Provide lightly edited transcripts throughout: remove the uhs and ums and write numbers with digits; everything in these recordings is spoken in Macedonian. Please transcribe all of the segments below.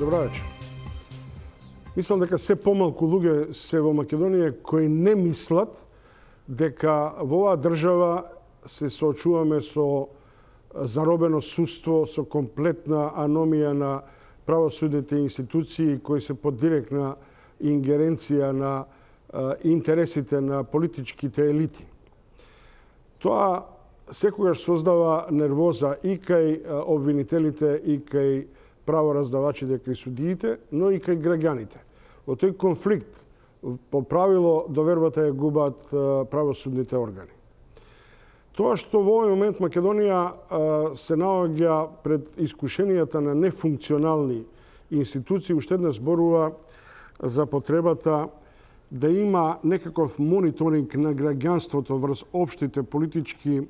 Добра вечер. Мислам дека се помалку луѓе се во Македонија кои не мислат дека во оваа држава се соочуваме со заробено судство, со комплетна аномија на правосудните институции кои се под директна ингеренција на интересите на политичките елити. Тоа секогаш создава нервоза и кај обвинителите, и кај правораздавачите, кај судиите, но и кај граѓаните. Во тој конфликт, по правило, довербата ја губат правосудните органи. Тоа што во овој момент Македонија се наоѓа пред искушенијата на нефункционални институции, уште еднаш зборува за потребата да има некаков мониторинг на граѓанството врз општите политички,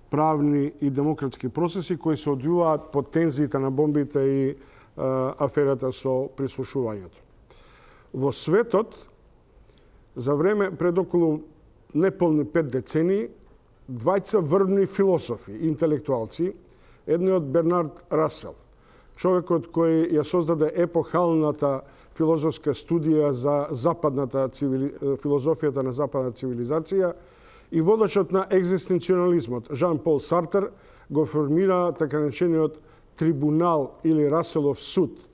правни и демократски процеси кои се одвиваат под тензиите на бомбите и аферата со прислушувањето. Во светот, за време пред околу неполни 5 децении, двајца врвни философи, интелектуалци, едниот Бернард Расел, човекот кој ја создаде епохалната филозофска студија за филозофијата на западна цивилизација, и водачот на екзистенционализмот, Жан Пол Сартер, го формира така наречениот трибунал или Раселов суд,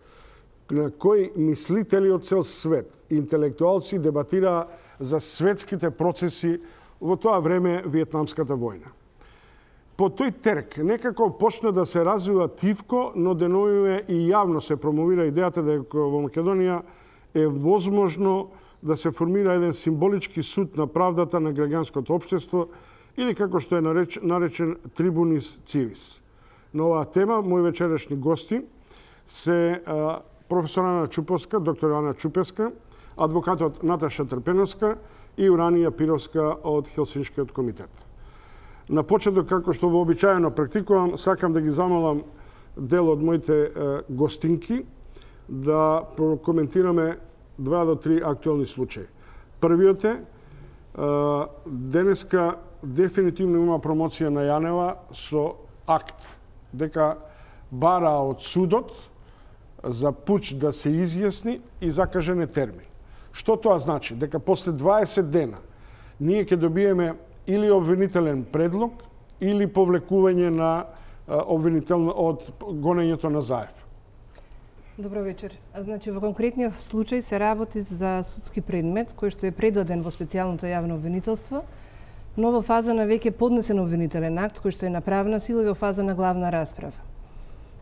на кој мислители од цел свет, интелектуалци дебатираа за светските процеси во тоа време Виетнамската војна. По тој терк некако почна да се развива тивко, но деновиве и јавно се промовира идејата дека во Македонија е возможно да се формира еден символички суд на правдата на граѓанското општество или како што е наречен трибунис цивис. На оваа тема мои вечерашни гости се професор Ана Чупоска, доктор Ана Чупеска, адвокатот Наташа Трпеновска и Уранија Пировска од Хелсиншкиот комитет. На почеток, како што вообичаено практикувам, сакам да ги замолам дел од моите гостинки да прокоментираме 2 до 3 актуелни случаи. Првиот е, денеска дефинитивно има промоција на Јанева со акт дека бара од судот за пуч да се изјасни и закажен е термин. Што тоа значи? Дека после 20 дена ние ќе добиеме или обвинителен предлог или повлекување на обвинител од гонењето на Заев. Добро вечер. Значи, во конкретниот случај се работи за судски предмет кој што е предаден во специјалното јавно обвинителство, но во фаза на веќе поднесен обвинителен акт кој што е на правна сила и во фаза на главна расправа.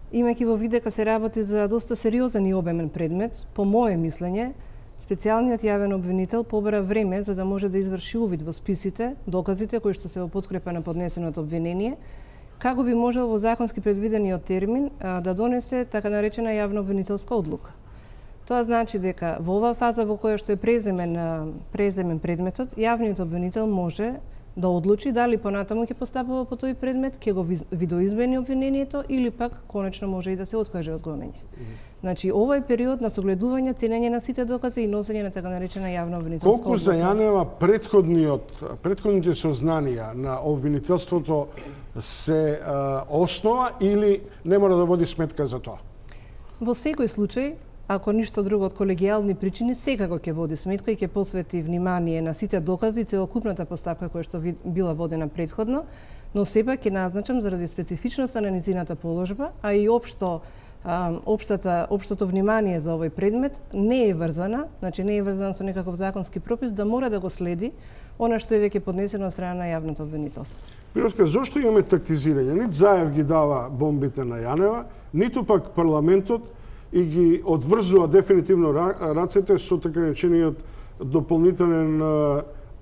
Имајќи во вид дека се работи за доста сериозен и обемен предмет, по мое мислење, специјалниот јавен обвинител побара време за да може да изврши увид во списите, доказите кои што се во подкрепа на поднесеното обвинение, како би можел во законски предвидениот термин да донесе така наречена јавна обвинителска одлука. Тоа значи дека во оваа фаза во која што е преземен предметот, јавниот обвинител може да одлучи дали понатаму ќе постапува по тој предмет, ќе го видоизмени обвинението или пак конечно може и да се откаже од гонење. Значи, овој период на согледување, ценење на сите докази и носење на така наречена јавна обвинителска одлука. Колку за Јанева претходните сознанија на обвинителството се основа или не мора да води сметка за тоа? Во секој случај, ако ништо друго од колегијални причини, секако ќе води сметка и ќе посвети внимание на сите докази и целокупната постапка која што била водена претходно, но сепак ќе назначам заради специфичноста на низината положба, а и општото внимание за овој предмет не е врзана, значи не е врзана со некаков законски пропис да мора да го следи она што е веќе поднесено од страна на јавното обвинителство. Пировска, зошто имаме тактизирање? Нит Заев ги дава бомбите на Јанева, ниту пак парламентот и ги одврзува дефинитивно рацете со така наречениот дополнителен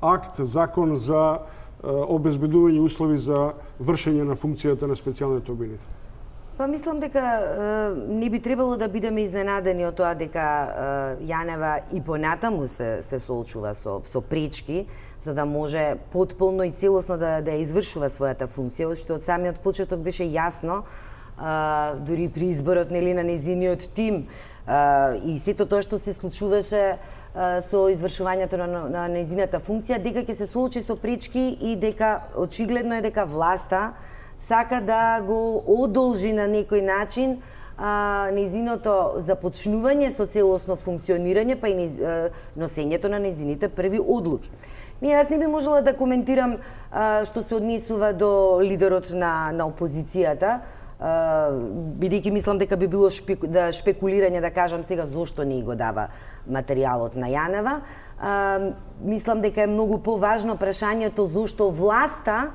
акт, закон за обезбедување услови за вршење на функцијата на специјалниот обвинител. Па мислам дека не би требало да бидеме изненадени од тоа дека Јанева и понатаму се соочува со пречки за да може потполно и целосно да извршува својата функција, што од самиот почеток беше јасно, дури при изборот на незиниот тим и сето тоа што се случуваше со извршувањето на незината функција, дека ќе се соочи со пречки и дека очигледно е дека власта сака да го одолжи на некој начин нејзиното започнување со целосно функционирање, па и носењето на нејзините први одлуки. Јас не би можела да коментирам што се однесува до лидерот на опозицијата, бидејќи мислам дека би било шпекулирање да кажам сега зошто не го дава материјалот на Јанева. Мислам дека е многу поважно прашањето зошто власта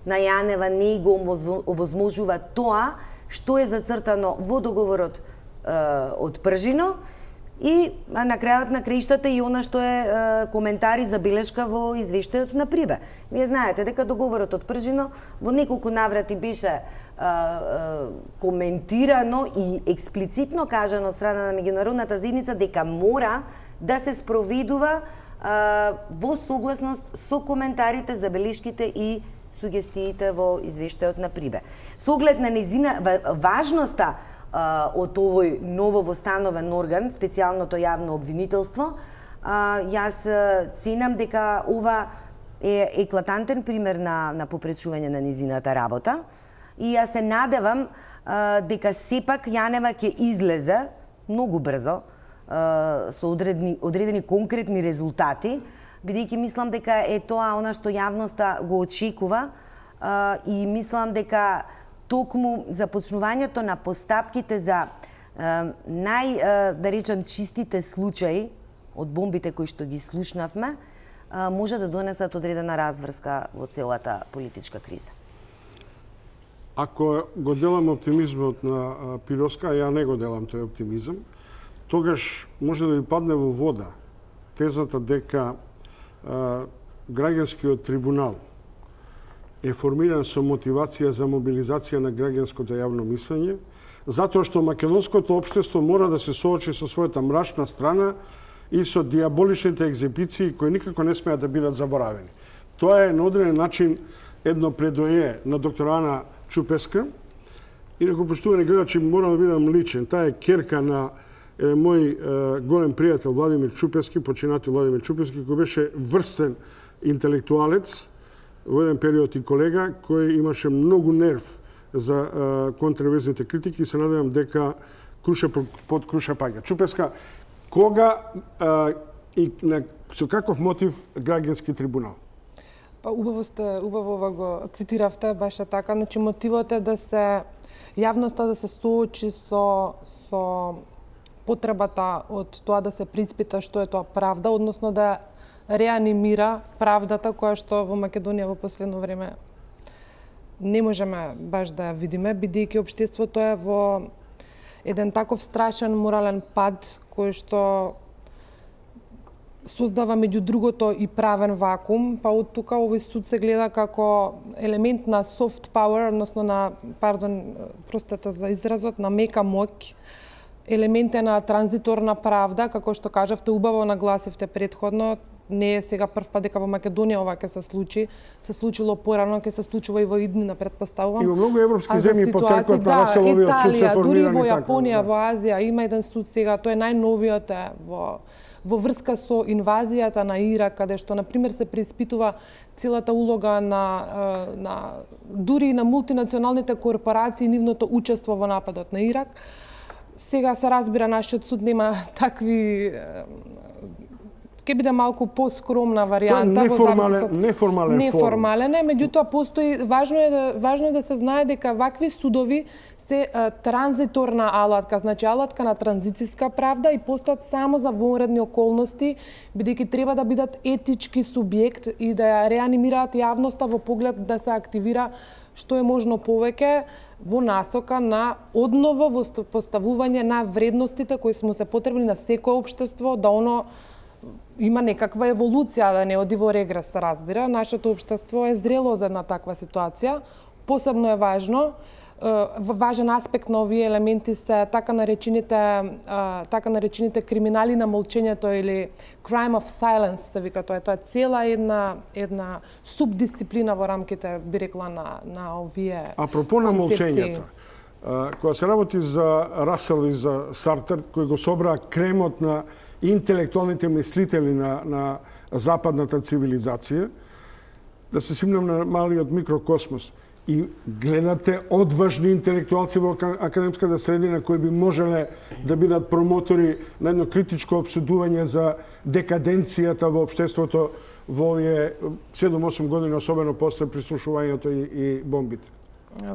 на Јанева не го овозможува тоа што е зацртано во договорот од Пржино и на крајот на краиштата и она што е коментар и забелешка во извештајот на Прибе. Вие знаете дека договорот од Пржино во неколку наврати беше коментирано и експлицитно кажано од страна на меѓународната заедница дека мора да се спроведува во согласност со коментарите, забелешките и сугестиите во извештајот на Прибе. Со оглед на нејзина важноста од овој ново востановен орган, специјалното јавно обвинителство, јас ценам дека ова е еклатантен пример на попречување на нејзината работа и јас се надевам дека сепак Јанева ќе излезе многу брзо со одредени конкретни резултати, бидејќи мислам дека е тоа она што јавноста го очекува и мислам дека токму започнувањето на постапките за да речем, чистите случаи од бомбите кои што ги слушнавме, може да донесат одредена разврска во целата политичка криза. Ако го делам оптимизмот на Пироска, ја не го делам тој оптимизам, тогаш може да ви падне во вода тезата дека граѓанскиот трибунал е формиран со мотивација за мобилизација на граѓанското јавно мислење, затоа што македонското општество мора да се соочи со својата мрачна страна и со диаболичните екзибиции кои никако не смеат да бидат заборавени. Тоа е на одреден начин едно предое на доктор Ана Чупеска. Инаку, поштувани гледачи, морам да бидам личен. Таа е керка на мој голем пријател Владимир Чупески, починатиот Владимир Чупески, кој беше врстен интелектуалец, во еден период и колега, кој имаше многу нерв за контраверзните критики и се надевам дека круша под круша паѓа. Чупеска, кога и со каков мотив граѓански трибунал? Па убаво го цитиравте, баше така. Значи мотивот е да се јавноста да се соочи со потребата од тоа да се преиспита што е тоа правда, односно да реанимира правдата која што во Македонија во последно време не можеме баш да ја видиме, бидејќи општеството е во еден таков страшен морален пад кој што создава меѓу другото и правен вакуум, па од тука овој суд се гледа како елемент на soft power, односно на, простете за изразот, на мека моќ, елемент е на транзиторна правда, како што кажавте, убаво нагласивте предходно, не е сега прв пат дека во Македонија ова ќе се случи, се случило порано, ќе се случува и во иднина, претпоставувам. И во многу европски земји потекот на Раселовиот суд се формирани. Дури во Јапонија, во Азија има еден суд сега, тој е најновиот во врска со инвазијата на Ирак, каде што на пример се преиспитува целата улога на дури на мултинационалните корпорации, нивното учество во нападот на Ирак. Сега се разбира, нашиот суд нема такви, ќе биде малку поскромна варијанта. Неформален е, меѓутоа постои, важно е да се знае дека вакви судови се транзиторна алатка, значи алатка на транзицијска правда и постојат само за вонредни околности, бидејќи треба да бидат етички субјект и да ја реанимираат јавноста во поглед да се активира што е можно повеќе во насока на одново поставување на вредностите кои сме се потребни на секое општество, да оно има некаква еволуција, да не оди во регрес, се разбира. Нашето општество е зрело за една таква ситуација. Посебно е важен аспект на овие елементи се така наречените криминали на молчењето или crime of silence се вика тоа. Тоа е цела една субдисциплина во рамките, би рекла, на овие концепции. Апропо на молчењето, кога се работи за Расел и за Сартер, кои го собраа кремот на интелектуалните мислители на западната цивилизација, да се симнам на малиот микрокосмос. и гледате одважни интелектуалци во академската средина кои би можеле да бидат промотори на едно критичко обсудување за декаденцијата во општеството во овие 7-8 години, особено после прислушувањето и бомбите?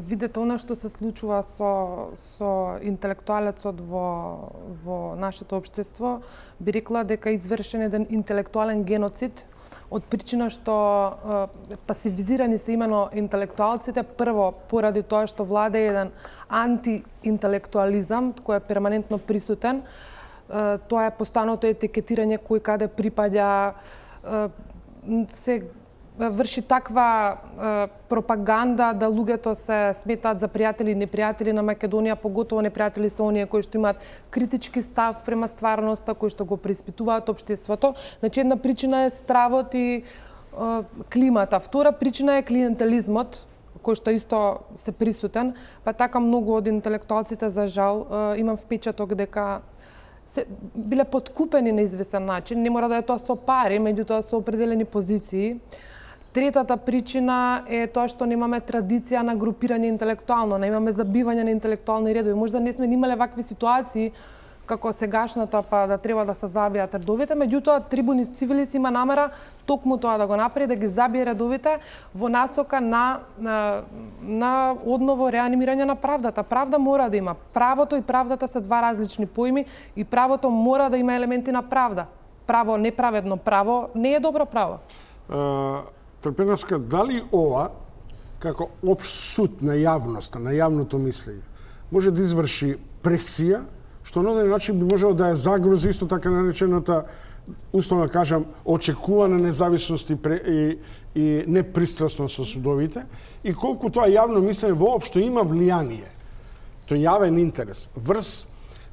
Видете, она што се случува со интелектуалецот во нашето општество, би рекла дека извршен еден интелектуален геноцид од причина што пасивизирани се имено интелектуалците, прво поради тоа што владе еден антиинтелектуализам кој е перманентно присутен. Тоа е постојаното етикетирање кој каде припаѓа, се врши таква пропаганда да луѓето се сметаат за пријатели и непријатели на Македонија, поготово непријатели се оние кои што имаат критички став према стварноста, кои што го преиспитуваат општеството. Значи, една причина е стравот и климата. Втора причина е клиентелизмот, кој што исто се присутен, па така многу од интелектуалците, за жал, имам впечаток дека се биле подкупени на известен начин, не мора да е тоа со пари, меѓутоа со определени позиции. Третата причина е тоа што немаме традиција на групирање интелектуално, немаме забивање на интелектуални редови. Можда не сме имале вакви ситуации како сегашната, па да треба да се забијат редовите, меѓутоа Трибунис Цивилис има намера токму тоа да го направи, да ги забие редовите во насока на одново реанимирање на правдата. Правда мора да има. Правото и правдата се два различни поими и правото мора да има елементи на правда. Право, неправедно право, не е добро право. Трпеновска, дали ова, како општ суд на јавноста, на јавното мислење, може да изврши пресија, што на одреден начин би можело да ја загрози исто така наречената, условно кажам, очекувана независност и непристрасност со судовите, и колку тоа јавно мислење воопшто има влијание, тој јавен интерес, врз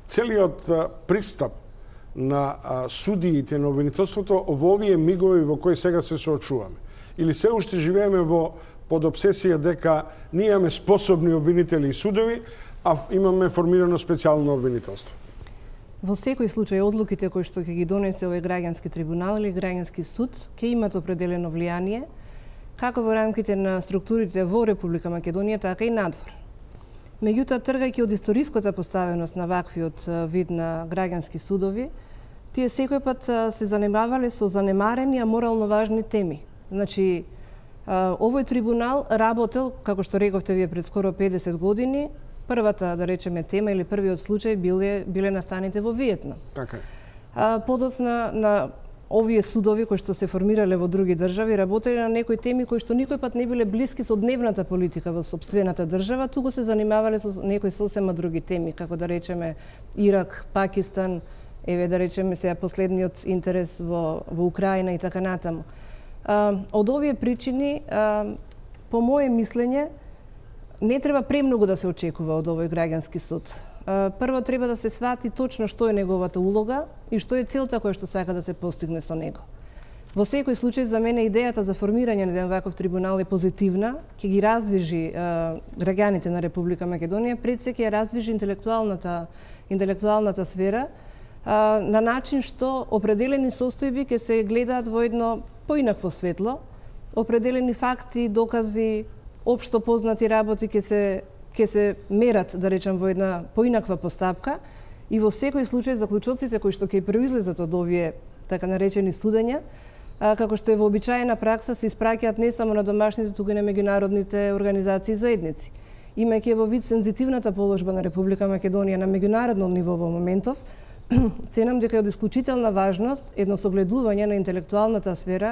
целиот пристап на судиите на обвинителството во овие мигови во кои сега се соочуваме. Или се уште живееме под обсесија дека ние имаме способни обвинители и судови, а имаме формирано специјално обвинителство? Во секој случај, одлуките кои што ќе ги донесе овој граѓански трибунал или граѓански суд ќе имат определено влијание, како во рамките на структурите во Република Македонија, така и надвор. Меѓутоа, тргајќи од историската поставеност на ваквиот вид на граѓански судови, тие секој пат се занимавале со занемарени, а морално важни теми. Значи, овој трибунал работел, како што рековте вие, пред скоро 50 години, првата, да речеме, тема или првиот случај биле настаните во Виетнам. Така е. Подоцна на овие судови кои што се формирале во други држави, работеле на некои теми кои што никој пат не биле блиски со дневната политика во сопствената држава, туку се занимавале со некои сосема други теми, како да речеме Ирак, Пакистан, еве да речеме сега последниот интерес во Украина и така натаму. Од овие причини, по моје мислење, не треба премногу да се очекува од овој граѓански суд. Прво треба да се свати точно што е неговата улога и што е целта која што сака да се постигне со него. Во секој случај, за мене идејата за формирање на еден ваков трибунал е позитивна, ќе ги раздвижи граѓаните на Република Македонија, пред се ќе раздвижи интелектуалната сфера на начин што определени состојби ќе се гледаат во едно поинакво светло, определени факти, докази, општо познати работи ќе се мерат, да речем, во една поинаква постапка и во секој случај заклучоците кои што ќе произлезат од овие така наречени судења, како што е вообичаена пракса, се испраќаат не само на домашните, туку и на меѓународните организации и заедници. Имајќи во вид сензитивната положба на Република Македонија на меѓународно ниво во моментов, ценам дека е од исклучителна важност едно согледување на интелектуалната сфера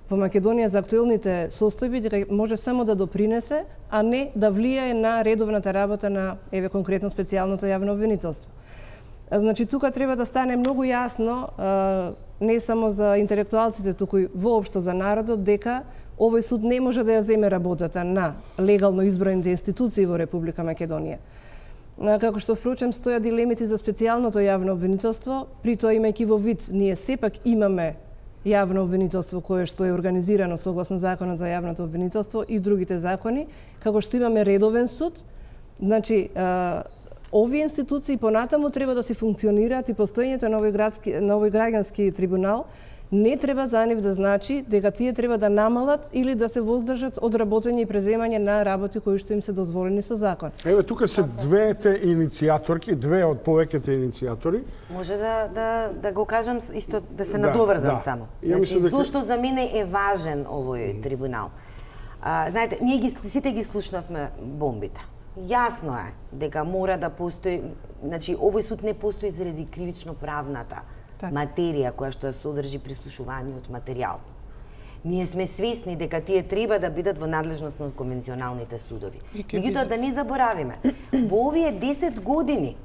во Македонија за актуелните состојби, дека може само да допринесе, а не да влијае на редовната работа на, еве конкретно, специјалното јавно обвинителство. Значи, тука треба да стане многу јасно, не само за интелектуалците, туку и воопшто за народот, дека овој суд не може да ја земе работата на легално избраните институции во Република Македонија. Како што впрочем стоја дилемите за специјалното јавно обвинителство, при тоа имајќи во вид, ние сепак имаме јавно обвинителство кое што е организирано согласно Законот за јавното обвинителство и другите закони, како што имаме редовен суд, значи овие институции понатаму треба да се функционираат и постоењето на овој граѓански трибунал не треба за нив да значи дека тие треба да намалат или да се воздржат од работење и преземање на работи кои што им се дозволени со закон. Еве тука се двете иницијаторки, две од повеќето иницијатори. Може да го кажам исто, да се надоврзам само. Значи, зошто за мене е важен овој трибунал? Знаете, ние сите ги слушнавме бомбите. Јасно е дека мора да постои, значи овој суд не постои заради кривично правната материја која што ја содржи прислушуваниот материјал. Ние сме свесни дека тие треба да бидат во надлежност на конвенционалните судови. Меѓутоа да не заборавиме, во овие 10 години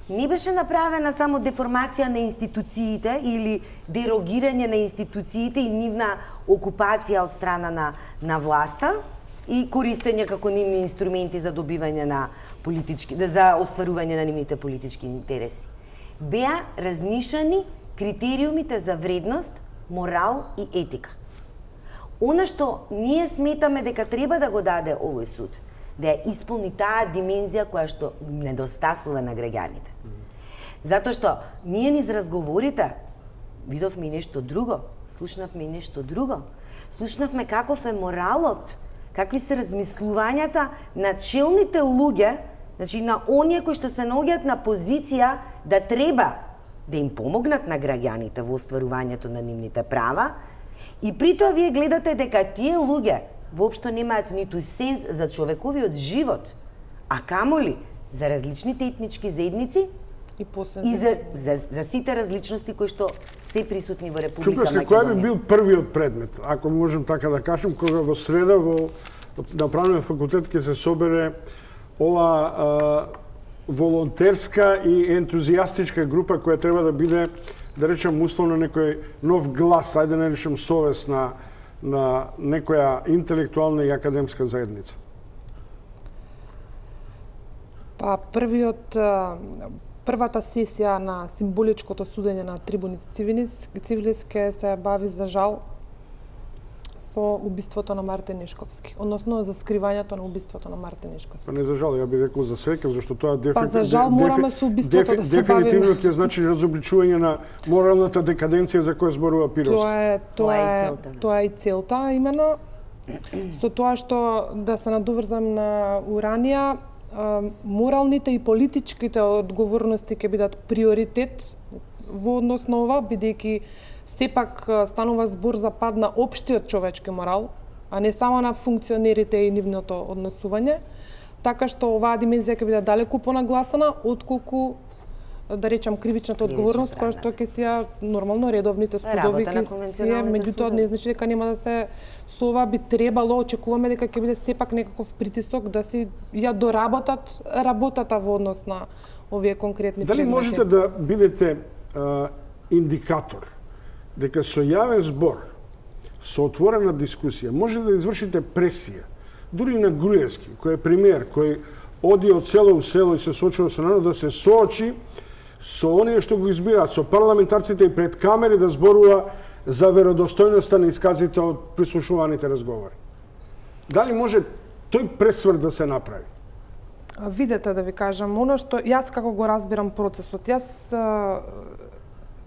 не беше направена само деформација на институциите или дерогирање на институциите и нивна окупација од страна на власта и користење како нивни инструменти за добивање на политички, за остварување на нивните политички интереси. Беа разнишани критериумите за вредност, морал и етика. Она што ние сметаме дека треба да го даде овој суд, да ја исполни таа димензија која што недостасува на граѓаните. Затоа што ние низ разговорите видовме и нешто друго, слушнавме и нешто друго. Слушнавме каков е моралот, какви се размислувањата на челните луѓе, значи на оние кои што се наоѓаат на позиција да треба да им помогнат на граѓаните во остварувањето на нивните права, и при тоа вие гледате дека тие луѓе воопшто немаат ниту сенс за човековиот живот, а камоли за различните етнички заедници и за сите различности кои што се присутни во Република Македонија. Кој би бил првиот предмет, ако можем така да кажем, кога во среда на Правниот факултет ќе се собере ова волонтерска и ентузијастичка група која треба да биде, да речем, условно некој нов глас, ајде да речем совест на некоја интелектуална и академска заедница? Па првата сесија на символичкото судење на Трибунис Цивилис ке се бави, за жал, со убиството на Мартин Нешковски, односно за скривањето на убиството на Мартин Нешковски. Не за жал, ја би рекол за среќа, зашто тоа Па за жал мораме со убиството да се бавиме. Дефинитивно ќе значи разобличување на моралната декаденција за која зборува Пировски. Тоа е и целта, именно. Со тоа што да се надоврзам на Уранија, моралните и политичките одговорности ќе бидат приоритет во однос на ова, бидејќи сепак станува збор за пад на општиот човечки морал, а не само на функционерите и нивното однесување, така што оваа димензија ќе биде далеку понагласена отколку, да речам, кривичната одговорност, која што ќе си ја нормално редовните судови ќе си ја, меѓутоа не значи дека нема да се со ова би требало, очекуваме дека ќе биде сепак некаков притисок да си ја доработат работата во однос на овие конкретни предмети. Дали можете да бидете индикатор дека со јавен збор, со отворена дискусија, може да извршите пресија, дури на Груевски, кој е премиер, кој оди од село у село и се соочува со народ, да се соочи со оние што го избираат, со парламентарците и пред камери да зборува за веродостојноста на исказите од прислушуваните разговори. Дали може тој пресврт да се направи? Видете, да ви кажам, оно што јас како го разбирам процесот, јас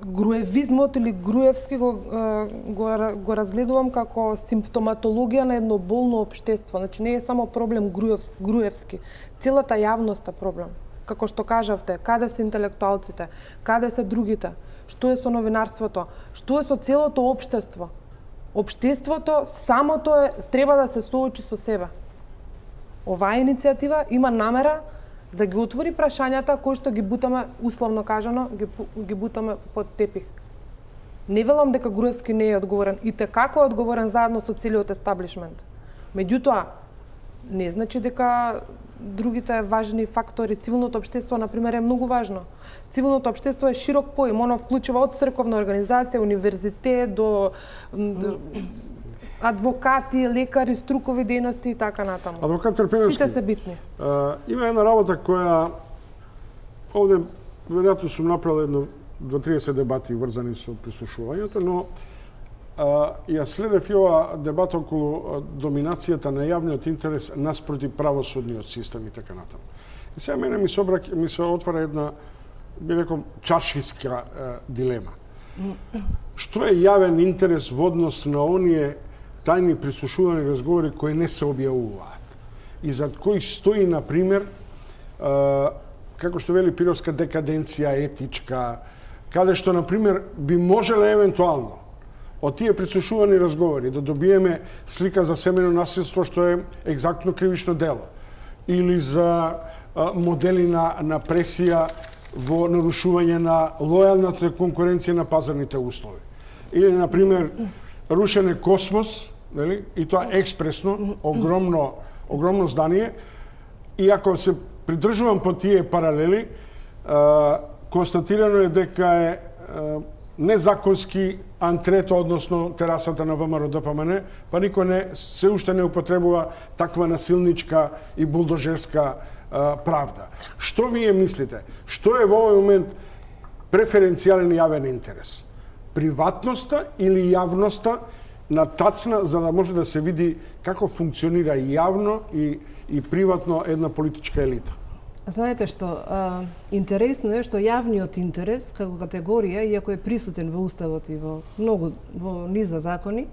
груевизмот или груевски го разгледувам како симптоматологија на едно болно општество. Значи не е само проблем груевски, целата јавност е проблем. Како што кажавте, каде се интелектуалците, каде се другите, што е со новинарството, што е со целото општество. Општеството самото треба да се соочи со себе. Оваа иницијатива има намера да ги отвори прашањата кои што ги бутаме, условно кажано, ги бутаме под тепих. Не велам дека Груевски не е одговорен, и како е одговорен заедно со целиот естаблишмент. Меѓутоа, не значи дека другите важни фактори, цивилното општество, например, е многу важно. Цивилното општество е широк поим, оно вклучува од црковна организација, универзитет, до адвокати, лекари, струкови дејности и така натаму. Адвокат Трпеновски, сите се битни. Има една работа која овде веројатно сум направил едно 2-30 дебати врзани со прислушувањето, но ја следев и ова дебата околу доминацијата на јавниот интерес наспроти правосудниот систем и така натаму. И сега мене ми се отвара една, би рекол, чаршиска дилема. Што е јавен интерес во однос на оние тајни прислушувани разговори кои не се објавуваат? И зад кои стои, например, како што вели Пировска, декаденција етичка, каде што, например, би можеле евентуално од тие прислушувани разговори да добиеме слика за семејно насилство што е екзактно кривично дело, или за модели на пресија во нарушување на лојалната конкуренција на пазарните услови. Или, например, рушене Космос, нели? И тоа експресно, огромно здание, и ако се придржувам по тие паралели, констатирано е дека е незаконски антрето, односно терасата на ВМРО ДПМН, па никој се уште не употребува таква насилничка и булдожерска правда. Што вие мислите? Што е во овој момент преференцијален јавен интерес? Приватноста или јавноста на тацна, за да може да се види како функционира јавно и приватно една политичка елита? Знаете што, интересно е што јавниот интерес како категорија, иако е присутен во Уставот и во низа закони,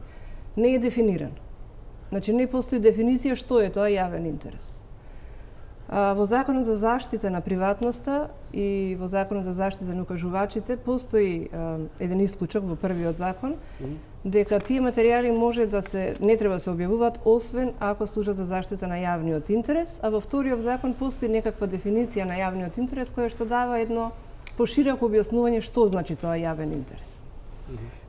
не е дефиниран. Значи не постои дефиниција што е тоа јавен интерес. Во Законот за заштита на приватноста и во Законот за заштита на укажувачите постои еден исклучок во првиот закон, дека тие материјали може да не треба да се објавуваат освен ако служат за заштита на јавниот интерес, а во вториот закон постои некаква дефиниција на јавниот интерес која што дава едно пошироко објаснување што значи тоа јавен интерес.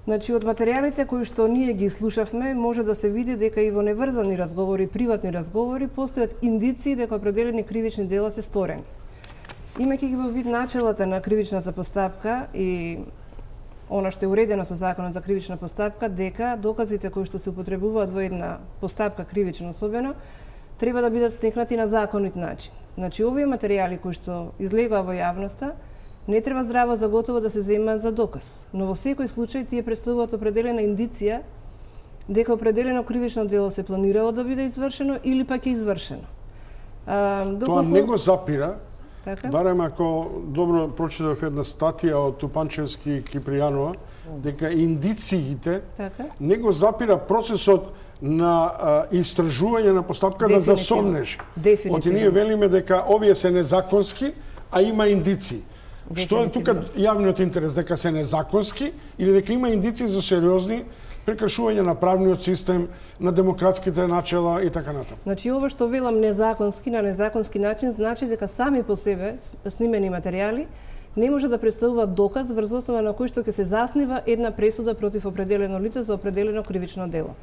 Значи, од материјалите кои што ние ги слушавме, може да се види дека и во неврзани разговори, приватни разговори, постојат индиции дека определени кривични дела се сторени. Имајќи ги во вид начелата на кривичната постапка и она што е уредено со Законот за кривична постапка, дека доказите кои што се употребуваат во една постапка кривична особено, треба да бидат стекнати на законит начин. Значи, овие материјали кои што излегува во јавноста, не треба здраво за готово да се земаат за доказ, но во секој случај тие представуваат определена индиција дека определено кривично дело се планирало да биде извршено или пак е извршено. Тоа не го запира, така? Барем ако добро прочитав една статија од Тупанчевски и Кипријанова, дека индициите не го запира процесот на истражување на постапка да засомнеш. Оти ние велиме дека овие се незаконски, а има индиции. Што е тука јавниот интерес? Дека се незаконски или дека има индиции за сериозни прекршување на правниот систем, на демократските начела и така натаму? Значи, ова што велам незаконски, на незаконски начин, значи дека сами по себе снимени материјали не може да представуваат доказ врз основа на кој што ќе се заснива една пресуда против определено лице за определено кривично дело.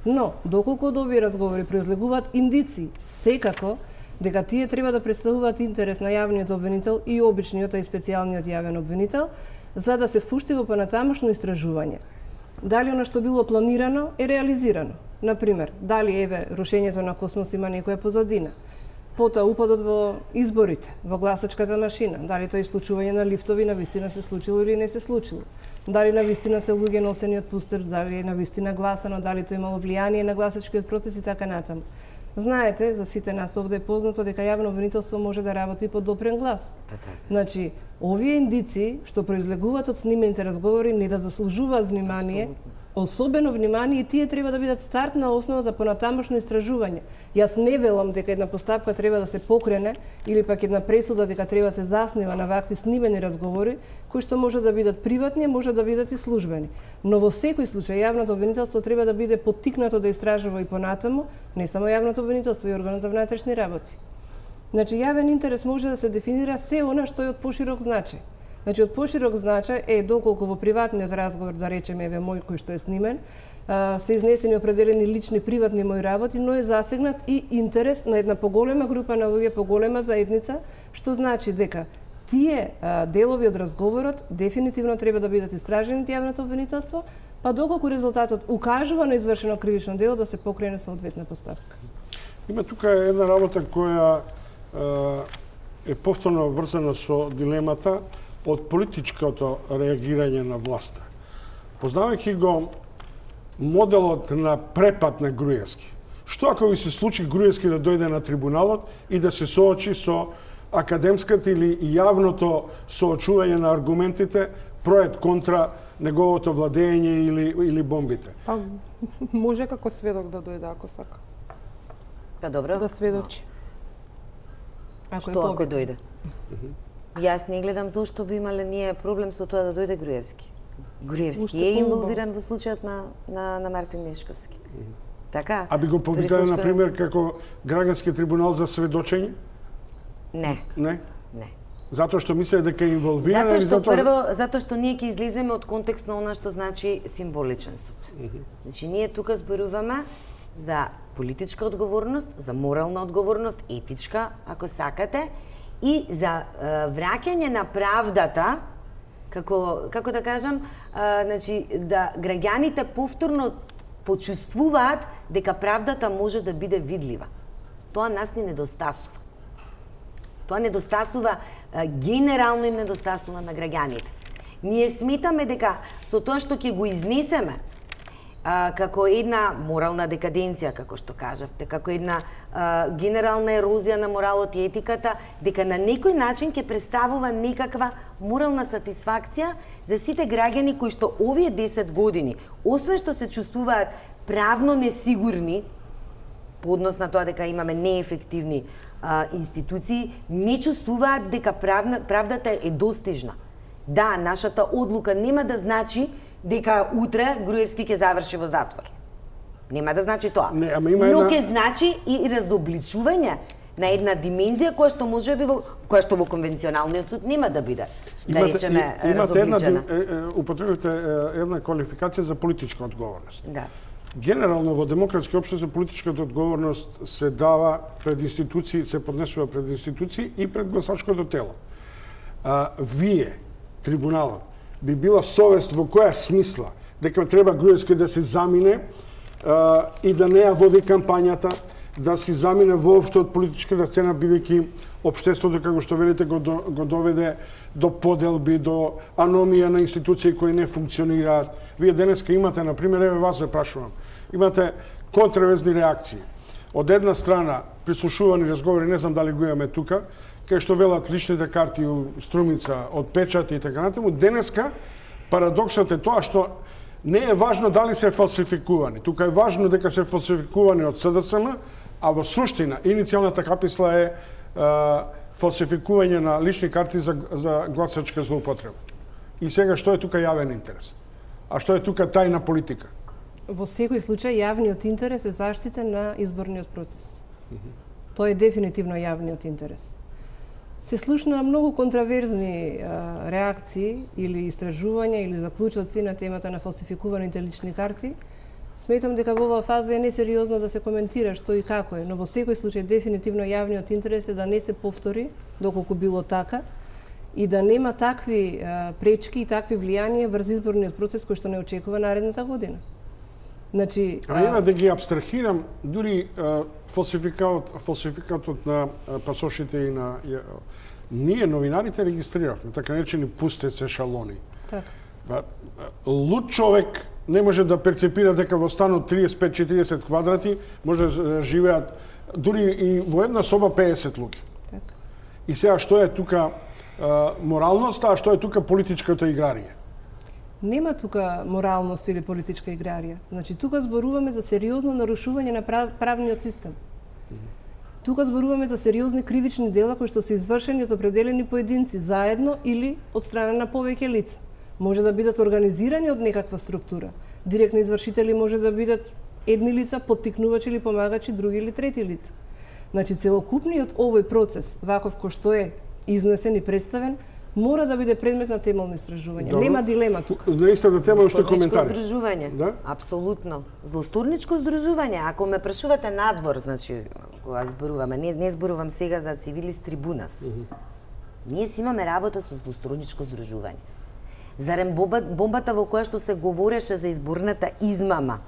Но, доколку од овие разговори произлегуваат индиции, секако дека тие треба да представуваат интерес на јавниот обвинител и обичниот и специјалниот јавен обвинител, за да се впушти во понатамошно истражување. Дали она што било планирано е реализирано. Например, дали рушењето на Космос има некоја позадина. Потоа упадот во изборите, во гласачката машина, дали тоа исклучување на лифтови навистина се случило или не се случило. Дали навистина се луѓе носени од пустерс, дали навистина гласано, дали тоа имало влијание на гласачкиот процес и така натаму. Знаете, за сите нас овде е познато дека јавно обвинителство може да работи по допрен глас. Значи, овие индиции што произлегуваат од снимените разговори не да заслужуваат внимание, особено внимание, и тие треба да бидат стартна основа за понатамошно истражување. Јас не велам дека една постапка треба да се покрене или пак една пресуда дека треба да се заснива на вакви снимени разговори, кои што може да бидат приватни, може да бидат и службени. Но во секој случај јавното обвинителство треба да биде поттикнато да истражува и понатаму, не само јавното обвинителство, и органот за внатрешни работи. Значи, јавен интерес може да се дефинира се она што е од поширок значај. Значи, од поширок значај е доколку во приватниот разговор, да речеме, мој кој што е снимен, се изнесени определени лични приватни мои работи, но е засегнат и интерес на една поголема група на луѓе, поголема заедница, што значи дека тие делови од разговорот дефинитивно треба да бидат истражени од јавното обвинителство, па доколку резултатот укажува на извршено кривично дело да се покрене соодветна постапка. Има тука една работа која е повторно врзана со дилемата од политичкото реагирање на власта. Познавајќи го моделот на препад на Груевски, што ако ви се случи Груевски да дојде на трибуналот и да се соочи со академската или јавното соочување на аргументите проет контра неговото владење или бомбите. Па може како сведок да дојде ако сака. Па добро. Да сведочи. Што ако дојде? Јас не гледам зошто би имале ние проблем со тоа да дојде Груевски. Груевски е инволвиран во случајот на Мартин Нешковски. Така? А би го повикале, например, како граѓански трибунал за сведочење? Не. Не? Не. Затоа што мисле дека е инволвиран? Затоа што ние ќе излеземе од контекст на она што значи символичен суд. Значи, ние тука зборуваме за политичка одговорност, за морална одговорност, етичка, ако сакате, и за враќање на правдата, како да кажам, значи, да граѓаните повторно почувствуваат дека правдата може да биде видлива. Тоа нас ни недостасува. Тоа недостасува, генерално им недостасува на граѓаните. Ние сметаме дека со тоа што ќе го изнесеме како една морална декаденција, како што кажавте, како една генерална ерозија на моралот и етиката, дека на некој начин ќе представува некаква морална сатисфакција за сите граѓани кои што овие 10 години, освен што се чувствуваат правно несигурни, по однос на тоа дека имаме неефективни институции, не чувствуваат дека правдата е достижна. Да, нашата одлука нема да значи дека утре Груевски ќе заврши во затвор. Нема да значи тоа. Но ќе значи и разобличување на една димензија која што можеби која што во конвенционалниот суд нема да биде, да речеме, разобличена. Употребите една квалификација за политичка одговорност. Да. Генерално во демократски општества политичката одговорност се дава пред институции, се поднесува пред институции и пред гласачкото тело. Вие, трибуналот, би била совест во која смисла дека треба Груевски да се замине и да не ја води кампањата, да се замине воопшто од политичката сцена, бидејќи општеството, како што велите, го доведе до поделби, до аномија на институции кои не функционираат. Вие денеска имате, например, еве вас ве прашувам, имате контравезни реакции. Од една страна, прислушувани разговори, не знам дали го имаме тука, кај што велат личните карти у Струмица, од печати и така натаму, денеска парадоксот е тоа што не е важно дали се фалсификувани. Тука е важно дека се фалсификувани од СДСМ, а во суштина иницијалната каписла е фалсификување на лични карти за гласачка злоупотреба. И сега што е тука јавен интерес? А што е тука тајна политика? Во секој случај јавниот интерес е заштита на изборниот процес. Тоа е дефинитивно јавниот интерес. Се слушна многу контраверзни реакции или истражувања или заклучоци на темата на фалсификуваните лични карти. Сметам дека во оваа фаза е несериозно да се коментира што и како е, но во секој случај дефинитивно јавниот интерес е да не се повтори, доколку било така, и да нема такви пречки и такви влијанија врз изборниот процес кој што не очекува наредната година. Значи, ја да ги абстрахирам, дури фалсификатот на пасошите и на ние новинарите регистриравме, така наречени пустец ешалони. Така. Луд човек не може да перцепира дека во станот 35-40 квадрати може да живеат дури и во една соба 50 луѓе. Така. И сега што е тука моралноста, а што е тука политичката играрија? Нема тука моралност или политичка играрија. Значи, тука зборуваме за сериозно нарушување на правниот систем. Тука зборуваме за сериозни кривични дела кои што се извршени од определени поединци, заедно или од страна на повеќе лица. Може да бидат организирани од некаква структура. Директни извршители може да бидат едни лица, поттикнувачи или помагачи, други или трети лица. Значи, целокупниот овој процес, ваков кој што е изнесен и представен, мора да биде предмет на темелни истражувања. Добро. Нема дилема тука. На истата тема уште коментари. Злосторничко здружување. Да? Апсолутно. Злосторничко здружување. Ако ме прашувате надвор, значи, кога зборуваме, не зборувам сега за цивилис трибунас. Ние си имаме работа со злосторничко здружување. Зарем бомбата во која што се говореше за изборната измама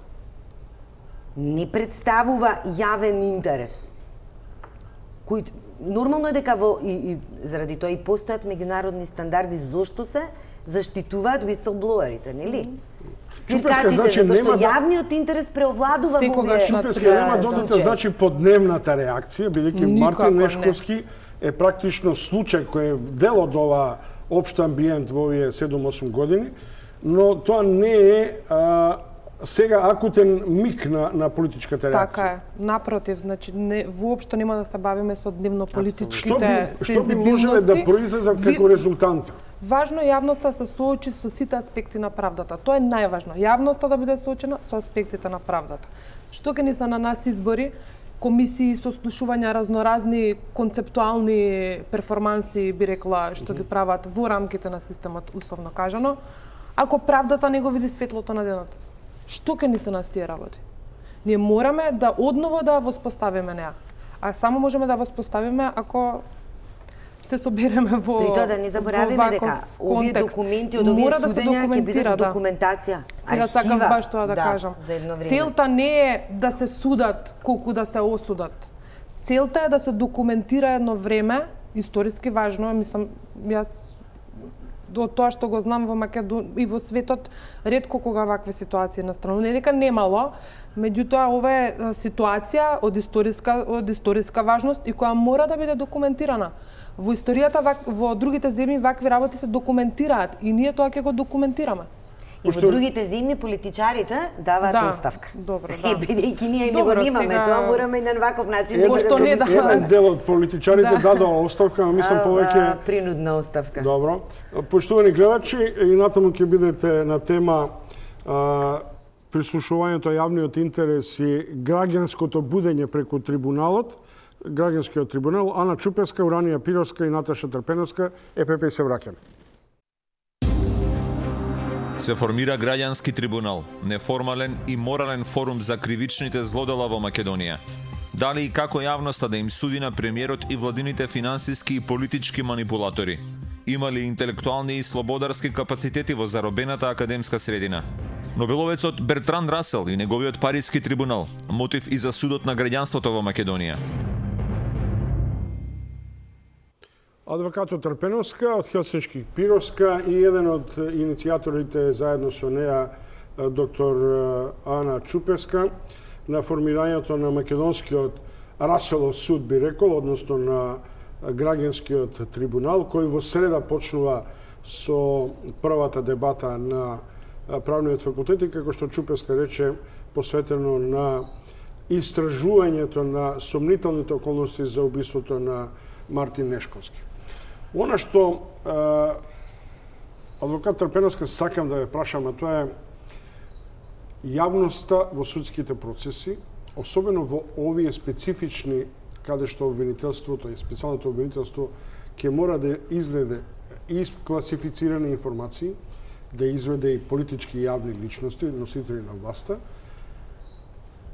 не представува јавен интерес. Кој нормално е дека и заради тоа и постојат меѓународни стандарди зошто се заштитуваат whistleblowerите, нели? Свиркачите, значи, затоа што нема јавниот интерес преовладува во овие Шупеска нема додата, значи подневната реакција, бидејќи Мартин Нешковски е практично случај кој е дел од оваа општ амбиент во овие 7-8 години, но тоа не е сега акутен миг на политичката реакција. Така е. Напротив, значи воопшто нема да се бавиме со дневно политичките сензибилности. Што би можеле да произлезат како резултанти? Важно е јавноста да се соочи со сите аспекти на правдата. Тоа е најважно. Јавноста да биде соочена со аспектите на правдата. Што ќе ни се на нас избори, комисии, сослушувања, разноразни концептуални перформанси, би рекла, што ги прават во рамките на системот, условно кажано, ако правдата не го види светлото на денот. Што ќе ни се нас тие работи? Ние мораме да одново да воспоставиме неа. А само можеме да воспоставиме ако се собереме во При тоа да не заборавиме дека овие документи од овие судења ќе бидат документација. Сега сакам баш тоа да кажам. Целта не е да се судат колку да се осудат. Целта е да се документира едно време, историски важно, мислам, јас од тоа што го знам во Македонија и во светот, ретко кога вакви ситуации настануваат. Не дека немало, меѓутоа ова е ситуација од историска важност и која мора да биде документирана. Во историјата во другите земји вакви работи се документираат и ние тоа ќе го документираме. И во другите земји политичарите даваат оставка. Добро, да. Бидејќи ние не го немаме, тоа мораме и на ваков начин да го еден дел од политичарите дадоа оставка, а мислам повеќе принудна оставка. Добро. Поштовани гледачи, и натаму ќе бидете на тема прислушувањето јавниот интерес и граѓанското будење преку трибуналот, граѓанскиот трибунал. Ана Чупеска, Уранија Пировска и Наташа Трпеновска, ЕПП и се враќаме. Се формира граѓански трибунал, неформален и морален форум за кривичните злодела во Македонија. Дали и како јавноста да им суди на премиерот и владините финансиски и политички манипулатори? Има ли интелектуални и слободарски капацитети во заробената академска средина? Нобеловецот Бертранд Расел и неговиот Париски трибунал, мотив и за судот на граѓанството во Македонија. Адвокатот Трпеновска од Хелсиншки Пировска и еден од иницијаторите заедно со неа доктор Ана Чупеска на формирањето на македонскиот Раселов суд, би рекол, односно на граѓанскиот трибунал, кој во среда почнува со првата дебата на правниот факултет и, како што Чупеска рече, посветено на истражувањето на сомнителните околности за убиството на Мартин Нешковски. Она што адвокат Трпеновска сакам да ве прашам, тоа е јавноста во судските процеси, особено во овие специфични, каде што обвинителството и специјалното обвинителство ќе мора да изведе и класифицирани информации, да изведе и политички јавни личности, носители на власта,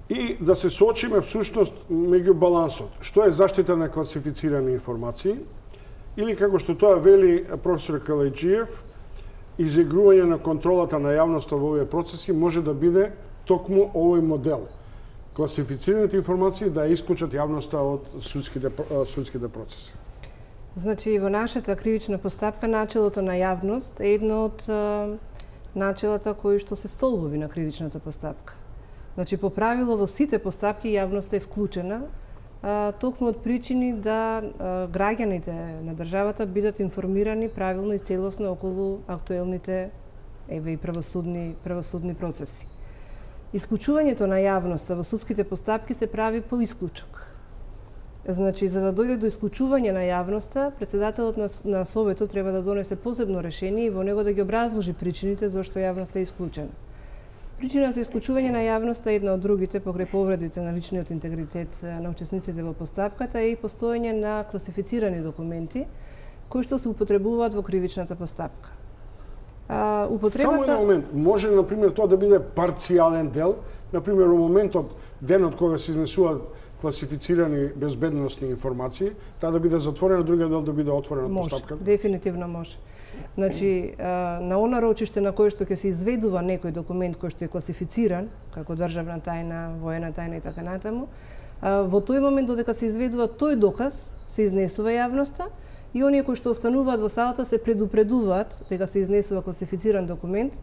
и да се соочиме всушност меѓу балансот. Што е заштита на класифицирани информации, или како што тоа вели професор Калајджиев, изигрување на контролата на јавноста во овие процеси може да биде токму овој модел. Класифицираните информации да исклучат јавноста од судските процеси. Значи, во нашата кривична постапка, начелото на јавност е едно од начелата кои што се столбови на кривичната постапка. Значи, по правило во сите постапки јавноста е вклучена, токму од причини да граѓаните на државата бидат информирани правилно и целосно околу актуелните и правосудни процеси. Исклучувањето на јавноста во судските постапки се прави по исклучок. Значи, за да дојде до исклучување на јавноста, председателот на Советот треба да донесе посебно решение и во него да ги образложи причините зашто јавноста е исклучена. Причина за исклучување на јавноста е една од другите покрај повредите на личниот интегритет на учесниците во постапката е и постоење на класифицирани документи кои што се употребуваат во кривичната постапка. Само еден момент, може например тоа да биде парцијален дел, например во моментот денот кога се изнесуваат класифицирани безбедносни информации, таа да биде затворена, другиот дел да биде отворен од постапката? Може, дефинитивно може. Значи, на она рочиште на кој што ќе се изведува некој документ кој што е класифициран, како државна тајна, воена тајна и така натаму, во тој момент додека се изведува тој доказ, се изнесува јавноста и оние кои што остануваат во салата се предупредуваат дека се изнесува класифициран документ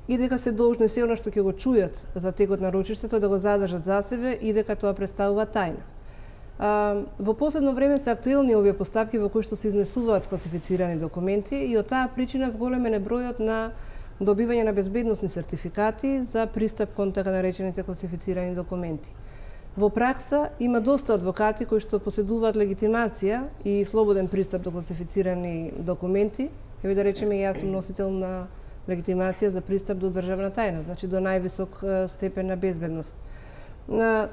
и дека се должни се она што ќе го чујат за текот на рочиштето да го задржат за себе и дека тоа представува тајна. Во последно време се актуелни овие постапки во кои што се изнесуваат класифицирани документи и од таа причина зголемен е бројот на добивање на безбедносни сертификати за пристап кон така наречените класифицирани документи. Во пракса има доста адвокати кои што поседуваат легитимација и слободен пристап до класифицирани документи. Еве да речеме, јас сум носител на легитимација за пристап до државна тајна, значи до највисок степен на безбедност.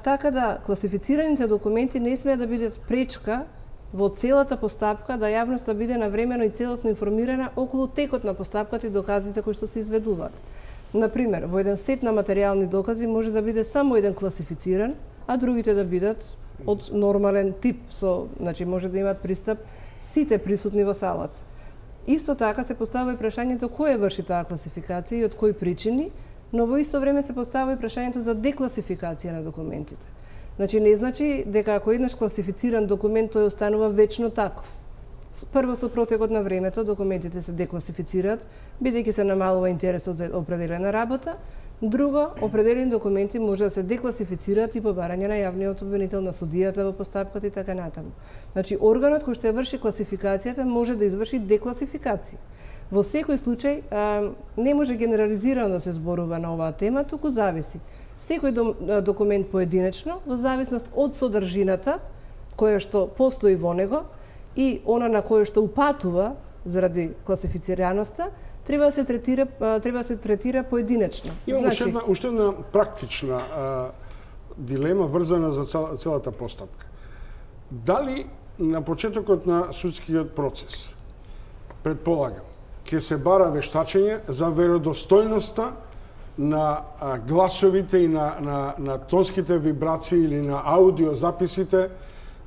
Така да, класифицираните документи не смеат да бидат пречка во целата постапка да јавноста биде навремено и целосно информирана околу текот на постапката и доказите кои што се изведуваат. Например, во еден сет на материјални докази може да биде само еден класифициран, а другите да бидат од нормален тип, значи може да имаат пристап сите присутни во салата. Исто така се поставува и прашањето кој врши таа класификација и од кои причини, но во исто време се поставува и прашањето за декласификација на документите. Значи не значи дека ако еднаш класифициран документ тој останува вечно таков. Прво со протекот на времето документите се декласифицираат, бидејќи се намалува интересот за определена работа. Друго, определени документи може да се декласифицираат и по барање на јавниот обвинител, на судијата во постапката и така натаму. Значи органот кој што ја врши класификацијата може да изврши декласификација. Во секој случај не може генерализирано да се зборува на оваа тема, туку зависи. Секој документ поединечно, во зависност од содржината која што постои во него и она на која што упатува заради класифицираноста, треба да се третира поединечно. Имам уште една практична дилема врзана за целата постапка. Дали на почетокот на судскиот процес, предполагам, ќе се бара вештачење за веродостојноста на гласовите и на тонските вибрации или на аудиозаписите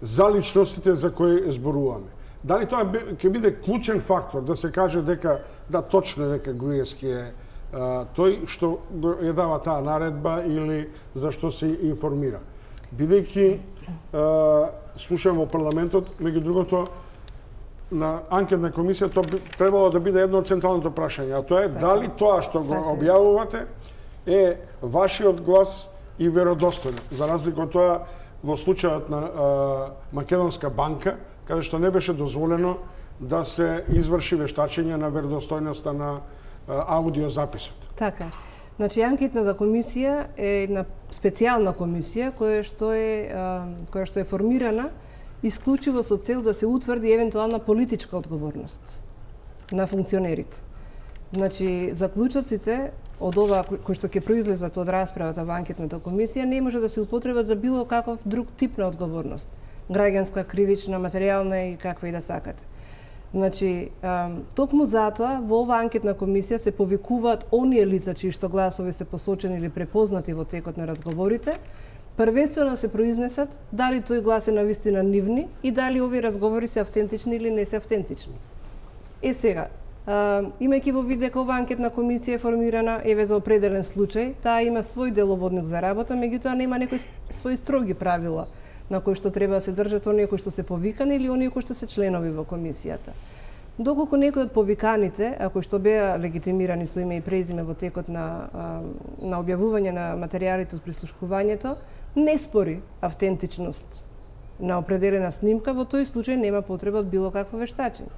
за личностите за кои зборуваме. Дали тоа ќе биде клучен фактор да се каже дека да точно дека Груевски е тој што ја дава таа наредба или за што се информира. Бидејќи слушам во парламентот, меѓу другото на анкетна комисија тоа требало да биде едно од централното прашање, а тоа е дали тоа што го објавувате е вашиот глас и веродостојно, за разлика од тоа во случајот на Македонска банка, каде што не беше дозволено да се изврши вештачење на веродостојноста на аудиозаписот. Така. Значи, анкетната комисија е една специјална комисија која што е формирана исклучиво со цел да се утврди евентуална политичка одговорност на функционерите. Значи, заклучоците од ова кои што ќе произлезат од расправата во анкетната комисија не може да се употребат за било каков друг тип на одговорност. Граѓанска, кривична, материјална и каква и да сакате. Значи, токму затоа во оваа анкетна комисија се повикуваат оние лица чии што гласови се посочени или препознати во текот на разговорите, првенствено се произнесат дали тој глас е навистина нивни и дали овие разговори се автентични или не се автентични. Сега, имајќи во вид дека оваа анкетна комисија е формирана еве за определен случај, таа има свој деловодник за работа, меѓутоа нема некои свои строги правила на кои што треба да се држат оние кои што се повикани или оние кои што се членови во комисијата. Доколку некои од повиканите, а кои што беа легитимирани со име и презиме во текот на објавување на материјалите од прислушкувањето, не спори автентичност на определена снимка, во тој случај нема потреба од било какво вештачење.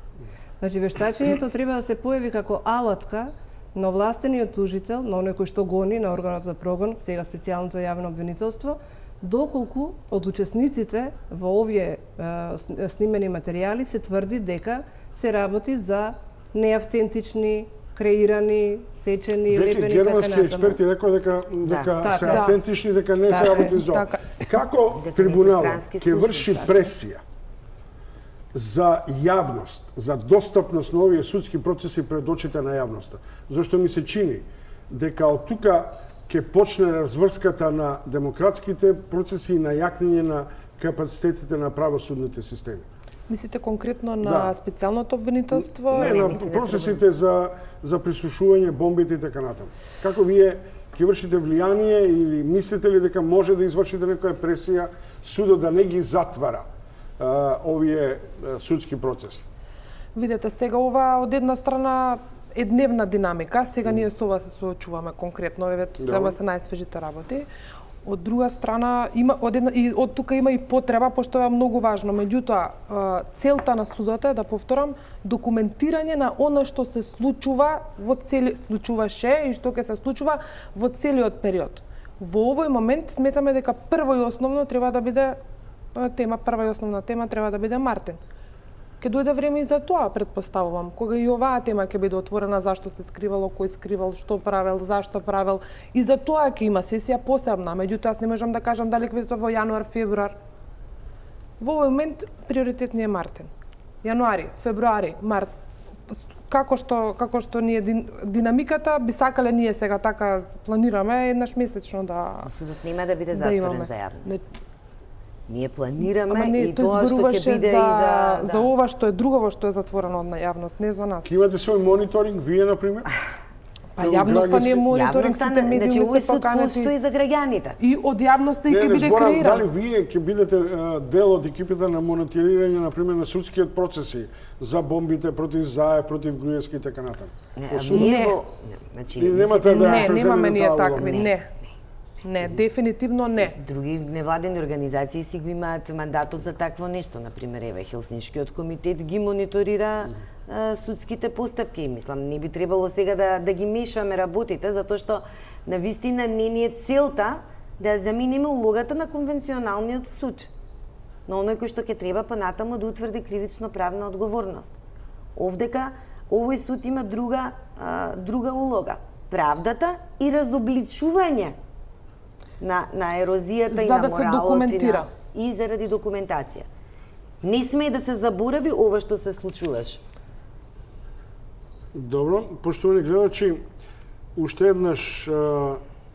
Значи, вештачењето треба да се појави како алатка на овластениот тужител, на оној кој што гони, на органот за прогон, сега специјалното јавно обвинителство, доколку од учесниците во овие снимени материјали се тврди дека се работи за неавтентични, креирани, сечени, лепени и така натаму. Германски експерти рекоа дека се автентични, дека не се работи за ова. Како трибуналот ќе врши пресија за јавност, за достапност на овие судски процеси пред очите на јавноста? Зашто ми се чини дека од тука ќе почне разврската на демократските процеси и на јакнење на капацитетите на правосудните системи. Мислите конкретно на специјалното обвинителство? Не, на процесите за прислушување, бомбите и така натаму. Како вие ќе вршите влијание или мислите ли дека може да извршите некоја пресија судот да не ги затвара овие судски процеси? Видете, сега ова од една страна е дневна динамика, сега ние со ова се соочуваме конкретно, еве се најсвежите работи. Од друга страна, од тука има и потреба, пошто е многу важно. Меѓутоа, целта на судот е, да повторам, документирање на оно што се случуваше и што ќе се случува во целиот период. Во овој момент сметаме дека прва и основна тема треба да биде Мартин. Ке дојде време и за тоа, предпоставувам, кога и оваа тема ќе биде отворена, зашто се скривало, кој скривал, што правел, зашто правел, и за тоа ќе има сесија посебна. Меѓутоа, аз не можам да кажам дали ќе биде во јануар, февруар. Во овој момент приоритет ни е Мартин. Јануари, февруари, март. Како што ни е динамиката, би сакале ние сега така планираме еднаш месечно да Судот нема да биде затворен за јавност. Ние планираме и тоа што ќе биде за ова што е друго што е затворено на јавност, не за нас. Ке имате свој мониторинг, вие, например? Па јавноста не е мониторинг, сите медиуми се поканети. Значи, постои за граѓаните. И од јавноста и ќе биде креиран. Дали вие ќе бидете дел од екипите на мониторирање, например, на судскиот процеси за бомбите против Заев, против Груевски и така натаму? Немаме ние такви, Не, дефинитивно не. Други невладени организации си го имаат мандатот за такво нешто. Например, еве, Хелсиншкиот комитет ги мониторира судските постапки. И мислам, не би требало сега да ги мешаме работите, затоа што навистина не ни е целта да ја замениме улогата на конвенционалниот суд. Но оној кој што ќе треба понатаму да утврди кривично правна одговорност. Овдека овој суд има друга улога. Правдата и разобличување на ерозијата и на моралот, за да се документира и заради документација. Не сме да се заборави ова што се случуваше. Добро, поштовани гледачи, уште еднаш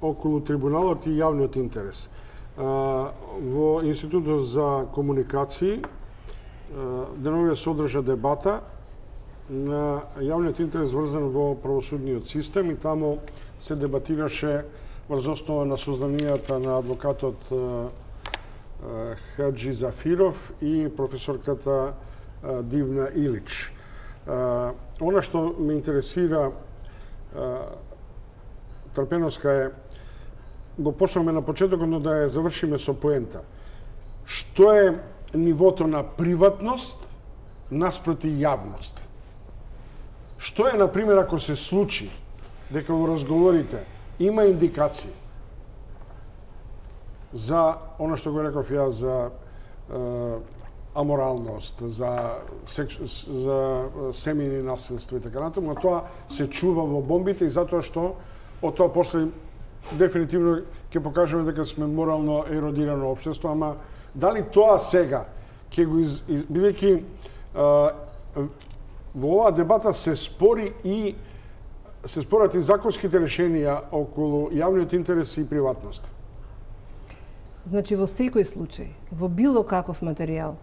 околу трибуналот и јавниот интерес. Во Институтот за комуникации деновија се одржа дебата на јавниот интерес врзан во правосудниот систем и таму се дебатираше врз основа на сознанията на адвокатот Хаджи Зафиров и професорката Дивна Илич. Она што ме интересира, Трпеновска, е, го почнаме на почетокот, но да ја завршиме со поента. Што е нивото на приватност наспроти јавност? Што е, например, ако се случи дека во разговорите има индикации за она што го реков ја, за аморалност, за семејни насилство и така натаму, а тоа се чува во бомбите и затоа што од тоа после дефинитивно ќе покажеме дека сме морално еродирано општество, ама дали тоа сега ќе го бидејќи во оваа дебата се спорат и законските решенија околу јавниот интерес и приватност. Значи, во секој случај, во било каков материјал,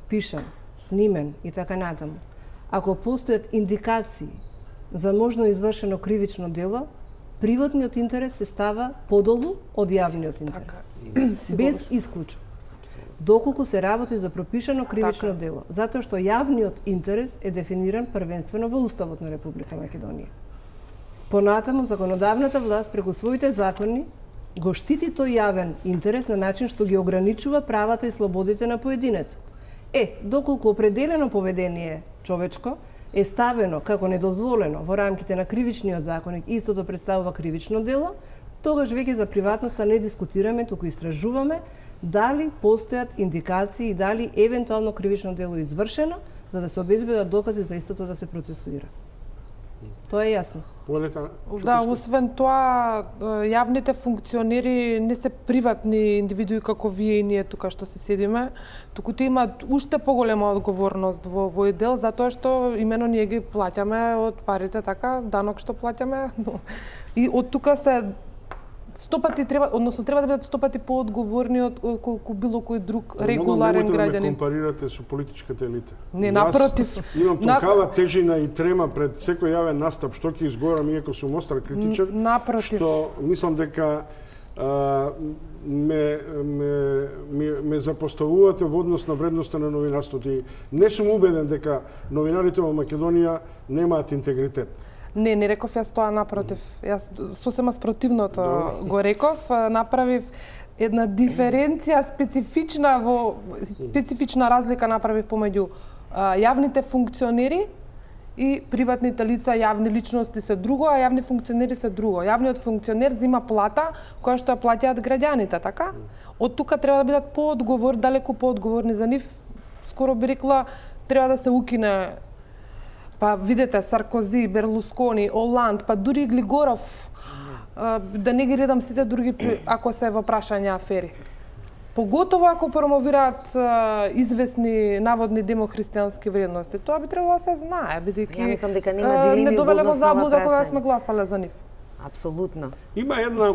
пишан, снимен и така натаму, ако постојат индикации за можно извршено кривично дело, приватниот интерес се става подолу од јавниот интерес. Без исклучок. Доколку се работи за пропишано кривично дело, затоа што јавниот интерес е дефиниран првенствено во Уставот на Република Македонија. Понатаму, законодавната власт преку своите закони го штити тој јавен интерес на начин што ги ограничува правата и слободите на поединецот. Доколку определено поведение човечко е ставено како недозволено во рамките на кривичниот законник, истото представува кривично дело, тогаш веќе за приватноста не дискутираме, туку истражуваме дали постојат индикации и дали евентуално кривично дело е извршено, за да се обезбедат докази за истото да се процесуира. Тоа е јасно. Да, освен тоа, јавните функционери не се приватни индивидуи како вие и ние тука што се седиме, туку те имаат уште поголема одговорност во овој дел, затоа што имено ние ги плаќаме од парите, така, данок што плаќаме, и од тука се 100 пати треба да бидат 100 пати поодговорни од колку било кој друг регуларен граѓанин. Не компарирате со политичката елита. Не, напротив. Имам толкава тежина и трема пред секој јавен настап, што ќе изговорам иако сум остар критичар, што мислам дека ме запоставувате во однос на вредноста на новинарството и не сум убеден дека новинарите во Македонија немаат интегритет. Не реков јас тоа, напротив. Јас сосема спротивното го реков, направив една диференција специфична разлика направив помеѓу јавните функционери и приватните лица, јавни личности се друго, а јавни функционери се друго. Јавниот функционер зима плата која што ја плаќаат граѓаните, така? Од тука треба да бидат далеку поодговорни за нив. Скоро би рекла, треба да се укине, па видете, Саркози, Берлускони, Оланд, па дури и Глигоров, да не ги редам сите други ако се во прашања афери. Поготово ако промовираат известни наводни демохристијански вредности. Тоа би требало да се знае, бидејќи мислам дека нема дилеми не довеле во однос на ова заблуда кога прашање. сме гласале за нив. Апсолутно. Има една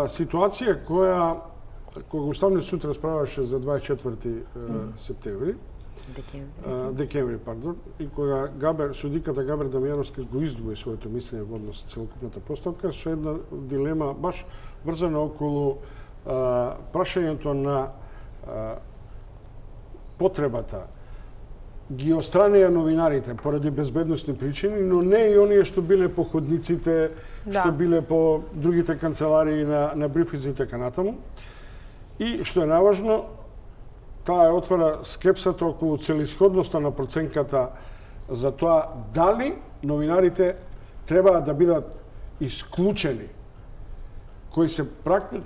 ситуација кога Уставниот суд расправаше за 24 септември, декември, и кога судиката Габер Дамјановска го издвои своето мислење во однос на целокупната постапка со една дилема баш врзана околу прашањето на потребата ги отстранија новинарите поради безбедносни причини, но не и оние што биле по ходниците, што биле по другите канцеларии на брифинзи и така натаму. И што е наважно, таа отвара скепсата околу целисходноста на проценката за тоа дали новинарите треба да бидат исклучени, кои се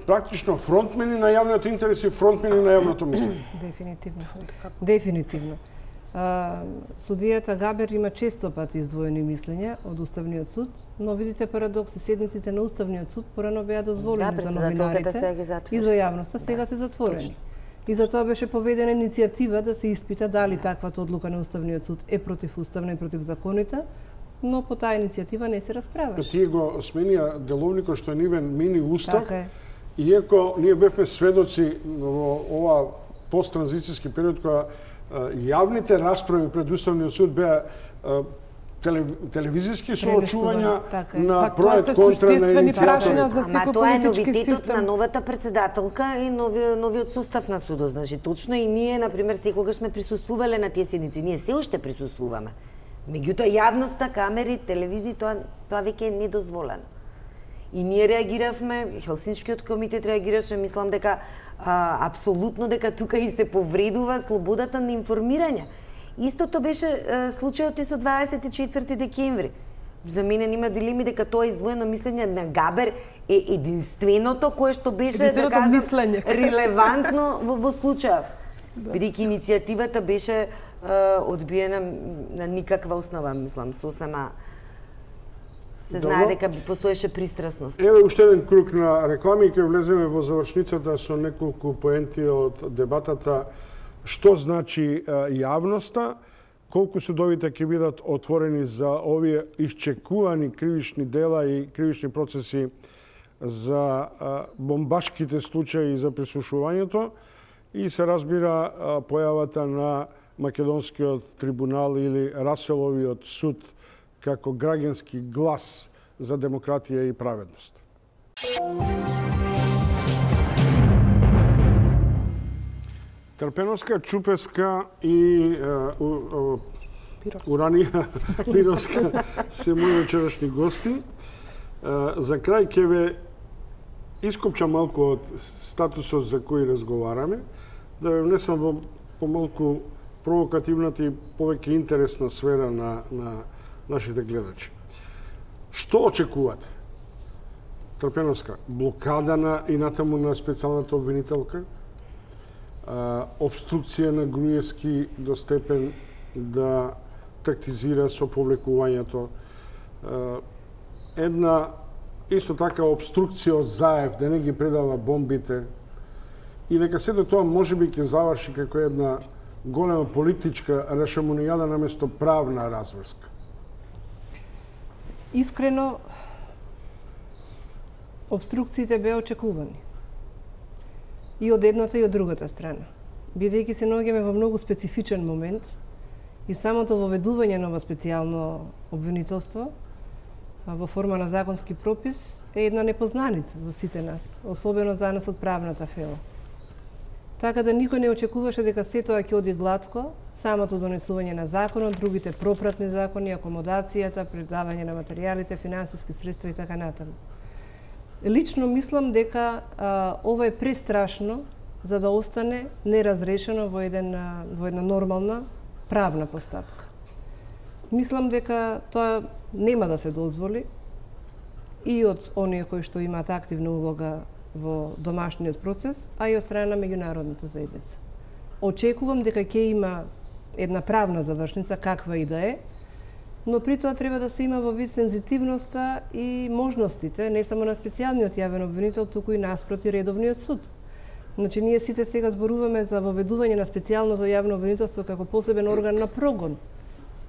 практично фронтмени на јавниот интерес и фронтмени на јавното мислење. Дефинитивно. Судијата Габер има често пати издвоени мислења од Уставниот суд, но видите парадокси, седниците на Уставниот суд порано беа дозволени за новинарите и за јавноста, сега се затворени. И за тоа беше поведена иницијатива да се испита дали таквата одлука на Уставниот суд е противуставна и против законите, но по таа иницијатива не се расправаше. Тие го сменија деловникот што е нивен мини устав, иако ние бевме сведоци во ова посттранзицијски период кога јавните расправи пред Уставниот суд беа телевизиски соочувања на проект контра на иницијативата. Ама тоа е новитетот на новата председателка и новиот состав на судот. Значи, точно и ние, например, секогаш сме присуствувале на тие седници. Ние се уште присуствуваме. Меѓутоа, јавноста, камери, телевизии, тоа веќе е недозволено. И ние реагиравме, Хелсинскиот комитет реагираше, мислам дека апсолутно дека тука и се повредува слободата на информирање. Истото беше случајот и со 24 декември. За мене нема дилеми дека тоа издвоено мислење на Габер е единственото кое што беше, да кажам, релевантно во случајов. Бидејќи иницијативата беше одбиена на никаква основа, мислам, сосема се знае дека постоеше пристрасност. Еве уште еден круг на реклами и ќе влеземе во завршницата со неколку поенти од дебатата. Што значи јавноста, колку судовите ќе бидат отворени за овие исчекувани кривични дела и кривични процеси за бомбашките случаи за прислушувањето и се разбира појавата на Македонскиот трибунал или Раселовиот суд како граѓански глас за демократија и праведност. Трпеновска, Чупеска и Уранија Пировска се мои вечерашни гости. За крај ќе ве ископчам малку од статусот за кој разговараме, да ве внесам во помалку провокативната и повеќе интересна сфера на нашите гледачи. Што очекувате? Трпеновска, блокада и натаму на специјалната обвинителка, обструкција на Груевски до степен да тактизира со повлекувањето, една исто така обструкција од Заев да не ги предава бомбите и дека сето тоа можеби ќе заврши како една голема политичка рашомонијада наместо правна разврска. Искрено, обструкциите беа очекувани. И од едната и од другата страна. Бидејќи се наоѓаме во многу специфичен момент и самото воведување на ова специјално обвинителство во форма на законски пропис е една непознаница за сите нас, особено за нас од правната фела. Така да никој не очекуваше дека се тоа ќе оди глатко, самото донесување на законот, другите пропратни закони, акомодацијата, предавање на материјалите, финансиски средства и така натаму. Лично мислам дека ова е престрашно за да остане неразрешено во една нормална правна постапка. Мислам дека тоа нема да се дозволи и од оние кои што имаат активна улога во домашниот процес, а и од страна на меѓународната заедница. Очекувам дека ќе има една правна завршница, каква и да е, но при тоа треба да се има во вид сензитивноста и можностите, не само на специјалниот јавен обвинител, туку и наспроти редовниот суд. Значи, ние сите сега зборуваме за воведување на специјалното јавно обвинителство како посебен орган на прогон,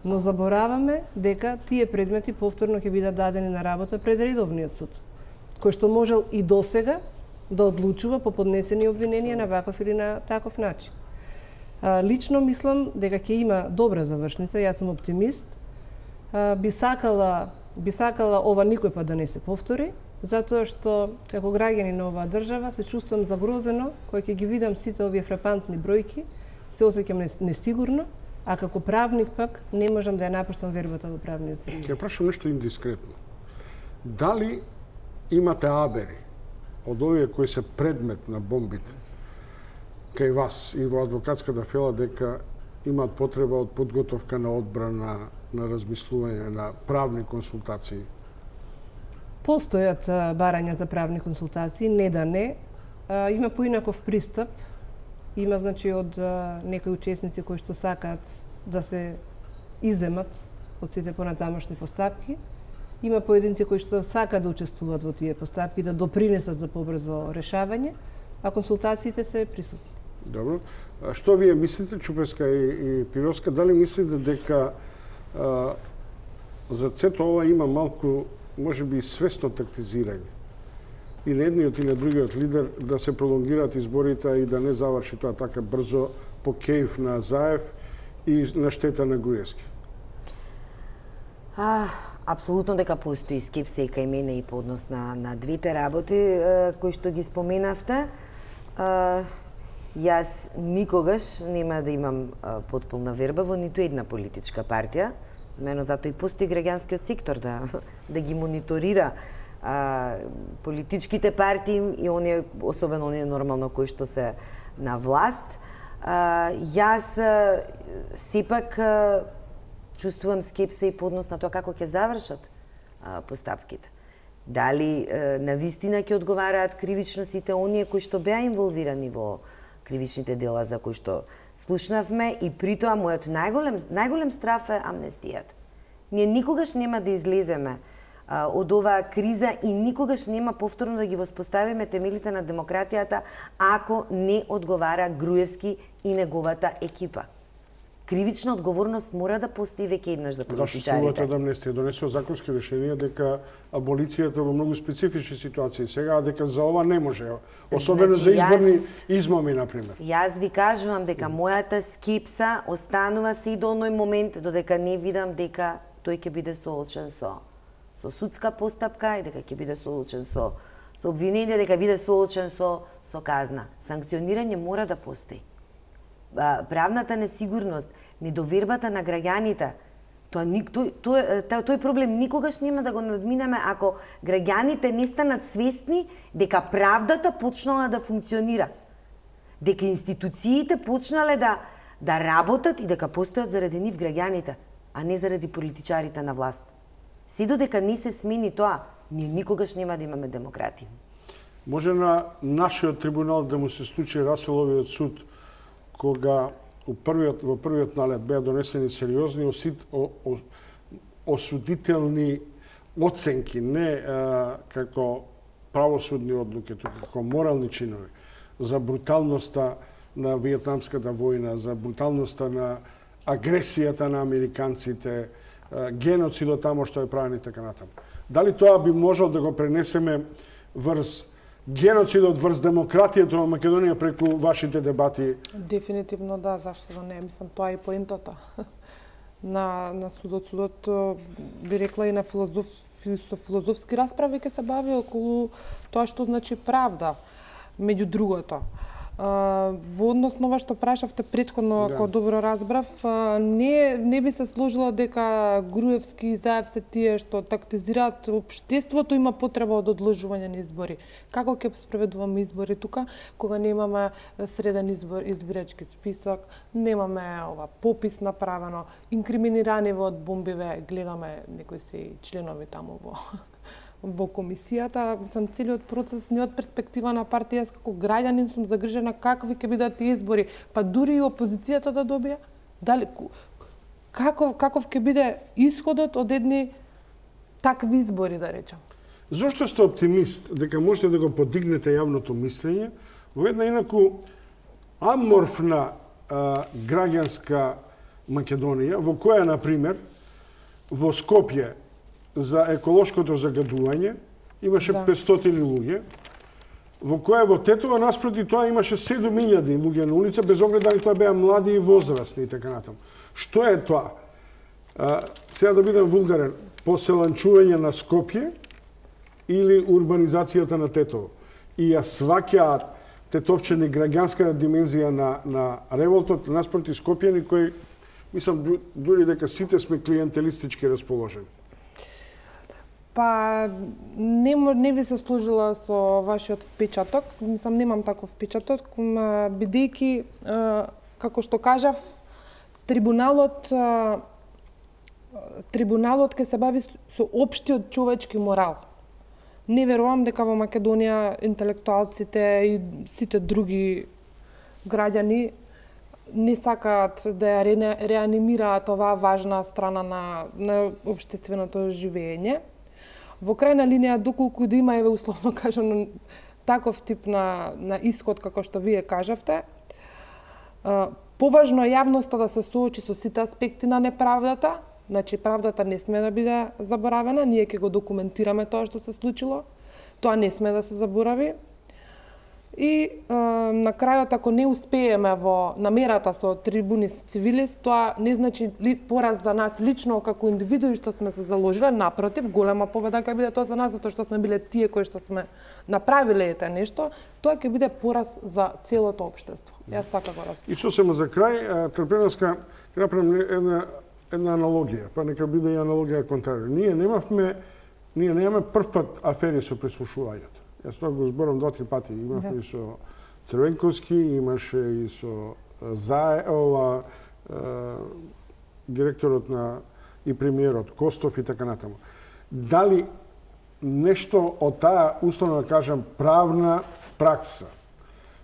но забораваме дека тие предмети повторно ќе бидат дадени на работа пред редовниот суд, кој што можел и досега да одлучува по поднесени обвиненија на ваков или на таков начин. Лично мислам дека ќе има добра завршница, јас сум оптимист. Би сакала ова никој пат да не се повтори, затоа што како граѓани на оваа држава се чувствувам загрозено кога ќе ги видам сите овие фрапантни бројки, се осеќам несигурно, а како правник пак не можам да ја напуштам вербата во правниот систем. Ќе прашам нешто индискретно. Дали имате абери од овие кои се предмет на бомбите кај вас и во адвокатската фела дека имаат потреба од подготовка на одбрана, на размислување, на правни консултации? Постојат барања за правни консултации, не да не. Има поинаков пристап. Има, значи, од некои учесници кои што сакаат да се иземат од сите понатамошни постапки. Има поединци кои што сакаат да учествуваат во тие постапки, да допринесат за побрзо решавање, а консултациите се присутни. Добро. Што вие мислите, Чупеска и Пировска, дали мислите дека за сето ова има малку, можеби, свесно тактизирање? И на едниот и на другиот лидер да се пролонгираат изборите и да не заврши тоа така брзо по кејф на Заев и на штета на Груевски? Апсолутно дека постои скепса и кај мене и по однос на двете работи кои што ги споменавте. Јас никогаш нема да имам потполна верба во ниту една политичка партија. Мено затоа и постои граѓанскиот сектор да ги мониторира политичките партии и оние, особено оние нормално кои што се на власт. Јас сепак чувствувам скепса и по однос на тоа како ќе завршат постапките. Дали навистина ќе одговараат кривично сите оние кои што беа инволвирани во кривичните дела за кои што слушнавме, и притоа мојот најголем страф е амнестијата. Ние никогаш нема да излеземе од оваа криза и никогаш нема повторно да ги воспоставиме темелите на демократијата ако не одговара Груевски и неговата екипа. Кривична одговорност мора да постои веќе еднаш за политичарите. Зашто да амнестија донесува законски решенија дека аболицијата во многу специфични ситуации сега, дека за ова не може, особено Значи, за изборни измами, например. Јас ви кажувам дека мојата скепса останува се и до оној момент додека не видам дека тој ќе биде соочен со судска постапка и дека ќе биде соочен со обвинение, дека биде соочен со казна. Санкционирање мора да постои. Правната несигурност, недовербата на граѓаните, тој проблем никогаш нема да го надминеме ако граѓаните не станат свесни дека правдата почнала да функционира, дека институциите почнале да работат и дека постојат заради нив граѓаните, а не заради политичарите на власт. Се додека не се смени тоа, ние никогаш нема да имаме демократија. Може на нашиот трибунал да му се случи Раселовиот суд, кога во првиот налет беа донесени сериозни осудителни оценки, не како правосудни одлуки, туку како морални чинови, за бруталноста на Виетнамската војна, за бруталноста на агресијата на американците, геноцидот тамо што е правен и така натаму. Дали тоа би можел да го пренесеме врз геноцидот врз демократијата во Македонија преку вашите дебати? Дефинитивно да, зашто да не, мислам тоа е поентата на судот. Судот би рекла и на филозофски расправи ќе се бави околу тоа што значи правда. Меѓу другото, Во однос на ова што прашавте претходно, ако добро разбрав, не би се сложила дека Груевски и Заев се тие што тактизираат. Општеството има потреба од одложување на избори. Како ќе спроведуваме избори тука, кога немаме среден избирачки список, немаме попис направено, инкриминирани од бомбиве, гледаме некои се членови таму во комисијата. Целиот процес не од перспектива на партија, јас како граѓанин сум загрижена какви ќе бидат тие избори, па дури и опозицијата да добија. Дали каков ќе биде исходот од едни такви избори, да речам? Зошто сте оптимист дека можете да го подигнете јавното мислење во една инаку аморфна граѓанска Македонија, во која, например, во Скопје за еколошкото загадување имаше 500 луѓе, во која во Тетово наспроти тоа имаше 7000 луѓе на улица, без оглед дали тоа беа млади и возрастни и така натаму. Што е тоа? Сега да бидам вулгарен, поселанчување на Скопје или урбанизацијата на Тетово? И ја сваќаат тетовчени граѓанска димензија на револтот наспроти Скопјани кои, мислам, дури дека сите сме клиентелистички расположени. Па не би се сложила со вашиот впечаток, мислам немам таков впечаток, бидејќи како што кажав, трибуналот ќе се бави со општиот човечки морал. Не верувам дека во Македонија интелектуалците и сите други граѓани не сакаат да ја реанимираат оваа важна страна на општественото живење. Во крајна линија, доколку да има, еве условно кажано, таков тип на исход како што вие кажавте, поважно е јавноста да се соочи со сите аспекти на неправдата. Значи, правдата не сме да биде заборавена, ние ќе го документираме тоа што се случило, тоа не сме да се заборави. И на крајот, ако не успееме во намерата со трибунис цивилис, тоа не значи пораз за нас лично како индивидуи што сме се заложиле, напротив, голема победа ќе биде тоа за нас, затоа што сме биле тие кои што сме направиле ете нешто, тоа ќе биде пораз за целото општество. Јас така го разбирам. И сосема за крај, Трпеновска, ќе направам една аналогија, па нека биде и аналогија контрарио. Ние немаме прв пат афери со прислушувањето. Јас тоа го зборам 2-3 пати. Имавме и со Црвенковски, имаше и со директорот и премиерот Костов и така натаму. Дали нешто од таа, условно да кажам, правна пракса,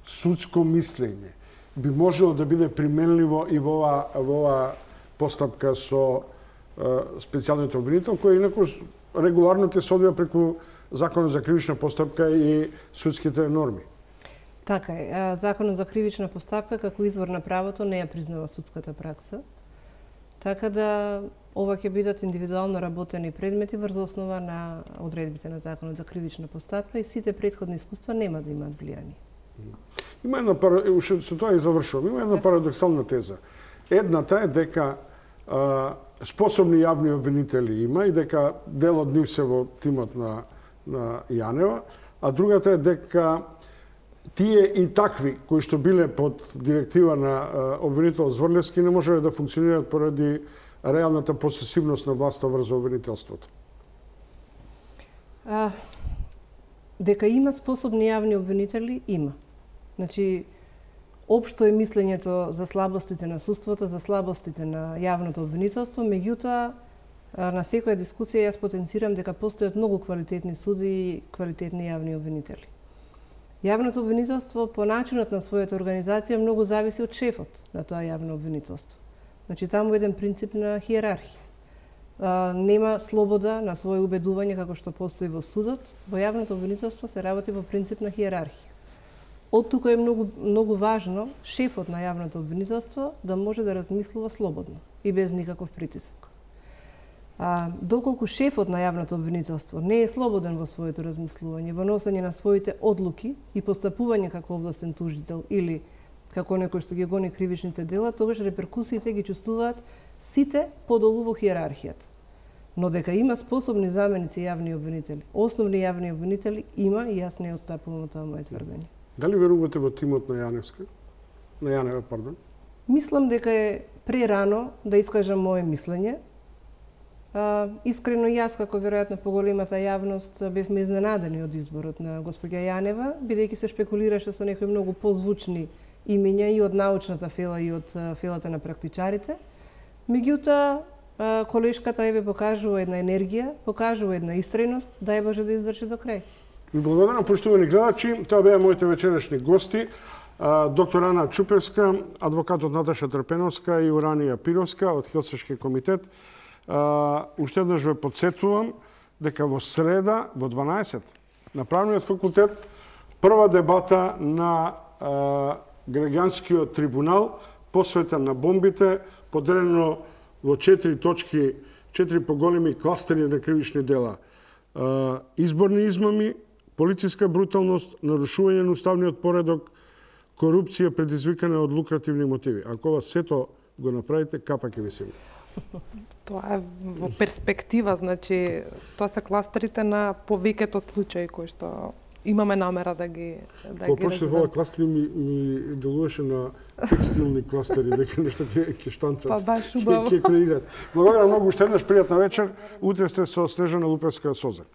судско мислење, би можело да биде применливо и во оваа постапка со специјалниот обвинител, кој инаку регуларно ќе се одвија преку Законот за кривична постапка и судските норми. Така е. Законот за кривична постапка како извор на правото не ја признава судската пракса. Така да ова ќе бидат индивидуално работени предмети врз основа на одредбите на Законот за кривична постапка и сите претходни искуства нема да имаат влијание. Има една со тоа и завршувам. Има една парадоксална теза. Едната е дека способни јавни обвинители има и дека дел од нив се во тимот на Јанева, а другата е дека тие и такви кои што биле под директива на обвинител Зворлевски не можеле да функционираат поради реалната посесивност на власта врз обвинителството. Дека има способни јавни обвинители, има. Значи, општо е мислењето за слабостите на судството, за слабостите на јавното обвинителство, меѓутоа на секоја дискусија јас потенцирам дека постојат многу квалитетни суди и квалитетни јавни обвинители. Јавното обвинителство по начинот на својата организација многу зависи од шефот на тоа јавно обвинителство. Значи таму е еден принцип на хиерархија. Нема слобода на своје убедување како што постои во судот, во јавното обвинителство се работи во принцип на хиерархија. Од тука е многу важно шефот на јавното обвинителство да може да размислува слободно и без никаков притисок. Доколку шефот на јавното обвинителство не е слободен во своето размислување, во носење на своите одлуки и постапување како овластен тужител или како некој што ги гони кривичните дела, тогаш реперкусиите ги чувствуваат сите подолу во хиерархијата. Но дека има способни заменици јавни обвинители, основни јавни обвинители има и јас не отстапувам од тоа моје тврдење. Дали верувате во тимот на Јаневска? На Јанева, пардон. Мислам дека е прерано да искажам мое мислење. Искрено јас, како веројатно поголемата јавност, бевме изненадени од изборот на госпоѓа Јанева, бидејќи се шпекулираше со некои многу позвучни имиња и од научната фела и од фелата на практичарите. Меѓутоа, колешката еве покажува една енергија, покажува една истреност, дај Боже да издржи до крај. Ви благодарам, поштовани гледачи. Тоа беа моите вечерашни гости. Доктор Ана Чупевска, адвокатот Наташа Трпеновска и Уранија Пировска од Хелсиншки комитет. Уште еднаш ве подсетувам дека во среда во 12 на Правниот факултет прва дебата на граѓанскиот трибунал посветен на бомбите, поделено во 4 точки, 4 поголеми кластери на кривични дела. Изборни измами, полициска бруталност, нарушување на уставниот поредок, корупција предизвикана од лукративни мотиви. Ако ова сето го направите, капа ќе ви се. Тоа е во перспектива, значи тоа се кластерите на повеќето случаи кои што имаме намера да ги Почне во кластери ми делуваше на текстилни кластери, дека нешто ќе штанцат. Па баш убаво. Ќе креират. Благодарам многу, уште еднаш пријатна вечер. Утре сте со Снежана Лупевска Созак.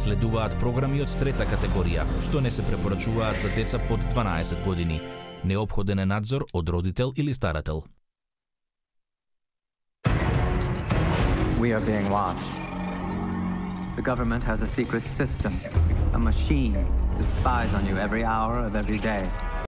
Следуваат програми од трета категорија, што не се препорачуваат за деца под 12 години. Неопходен е надзор од родител или старател. We are being watched. The government has a secret system, a machine that spies on you every hour of every day.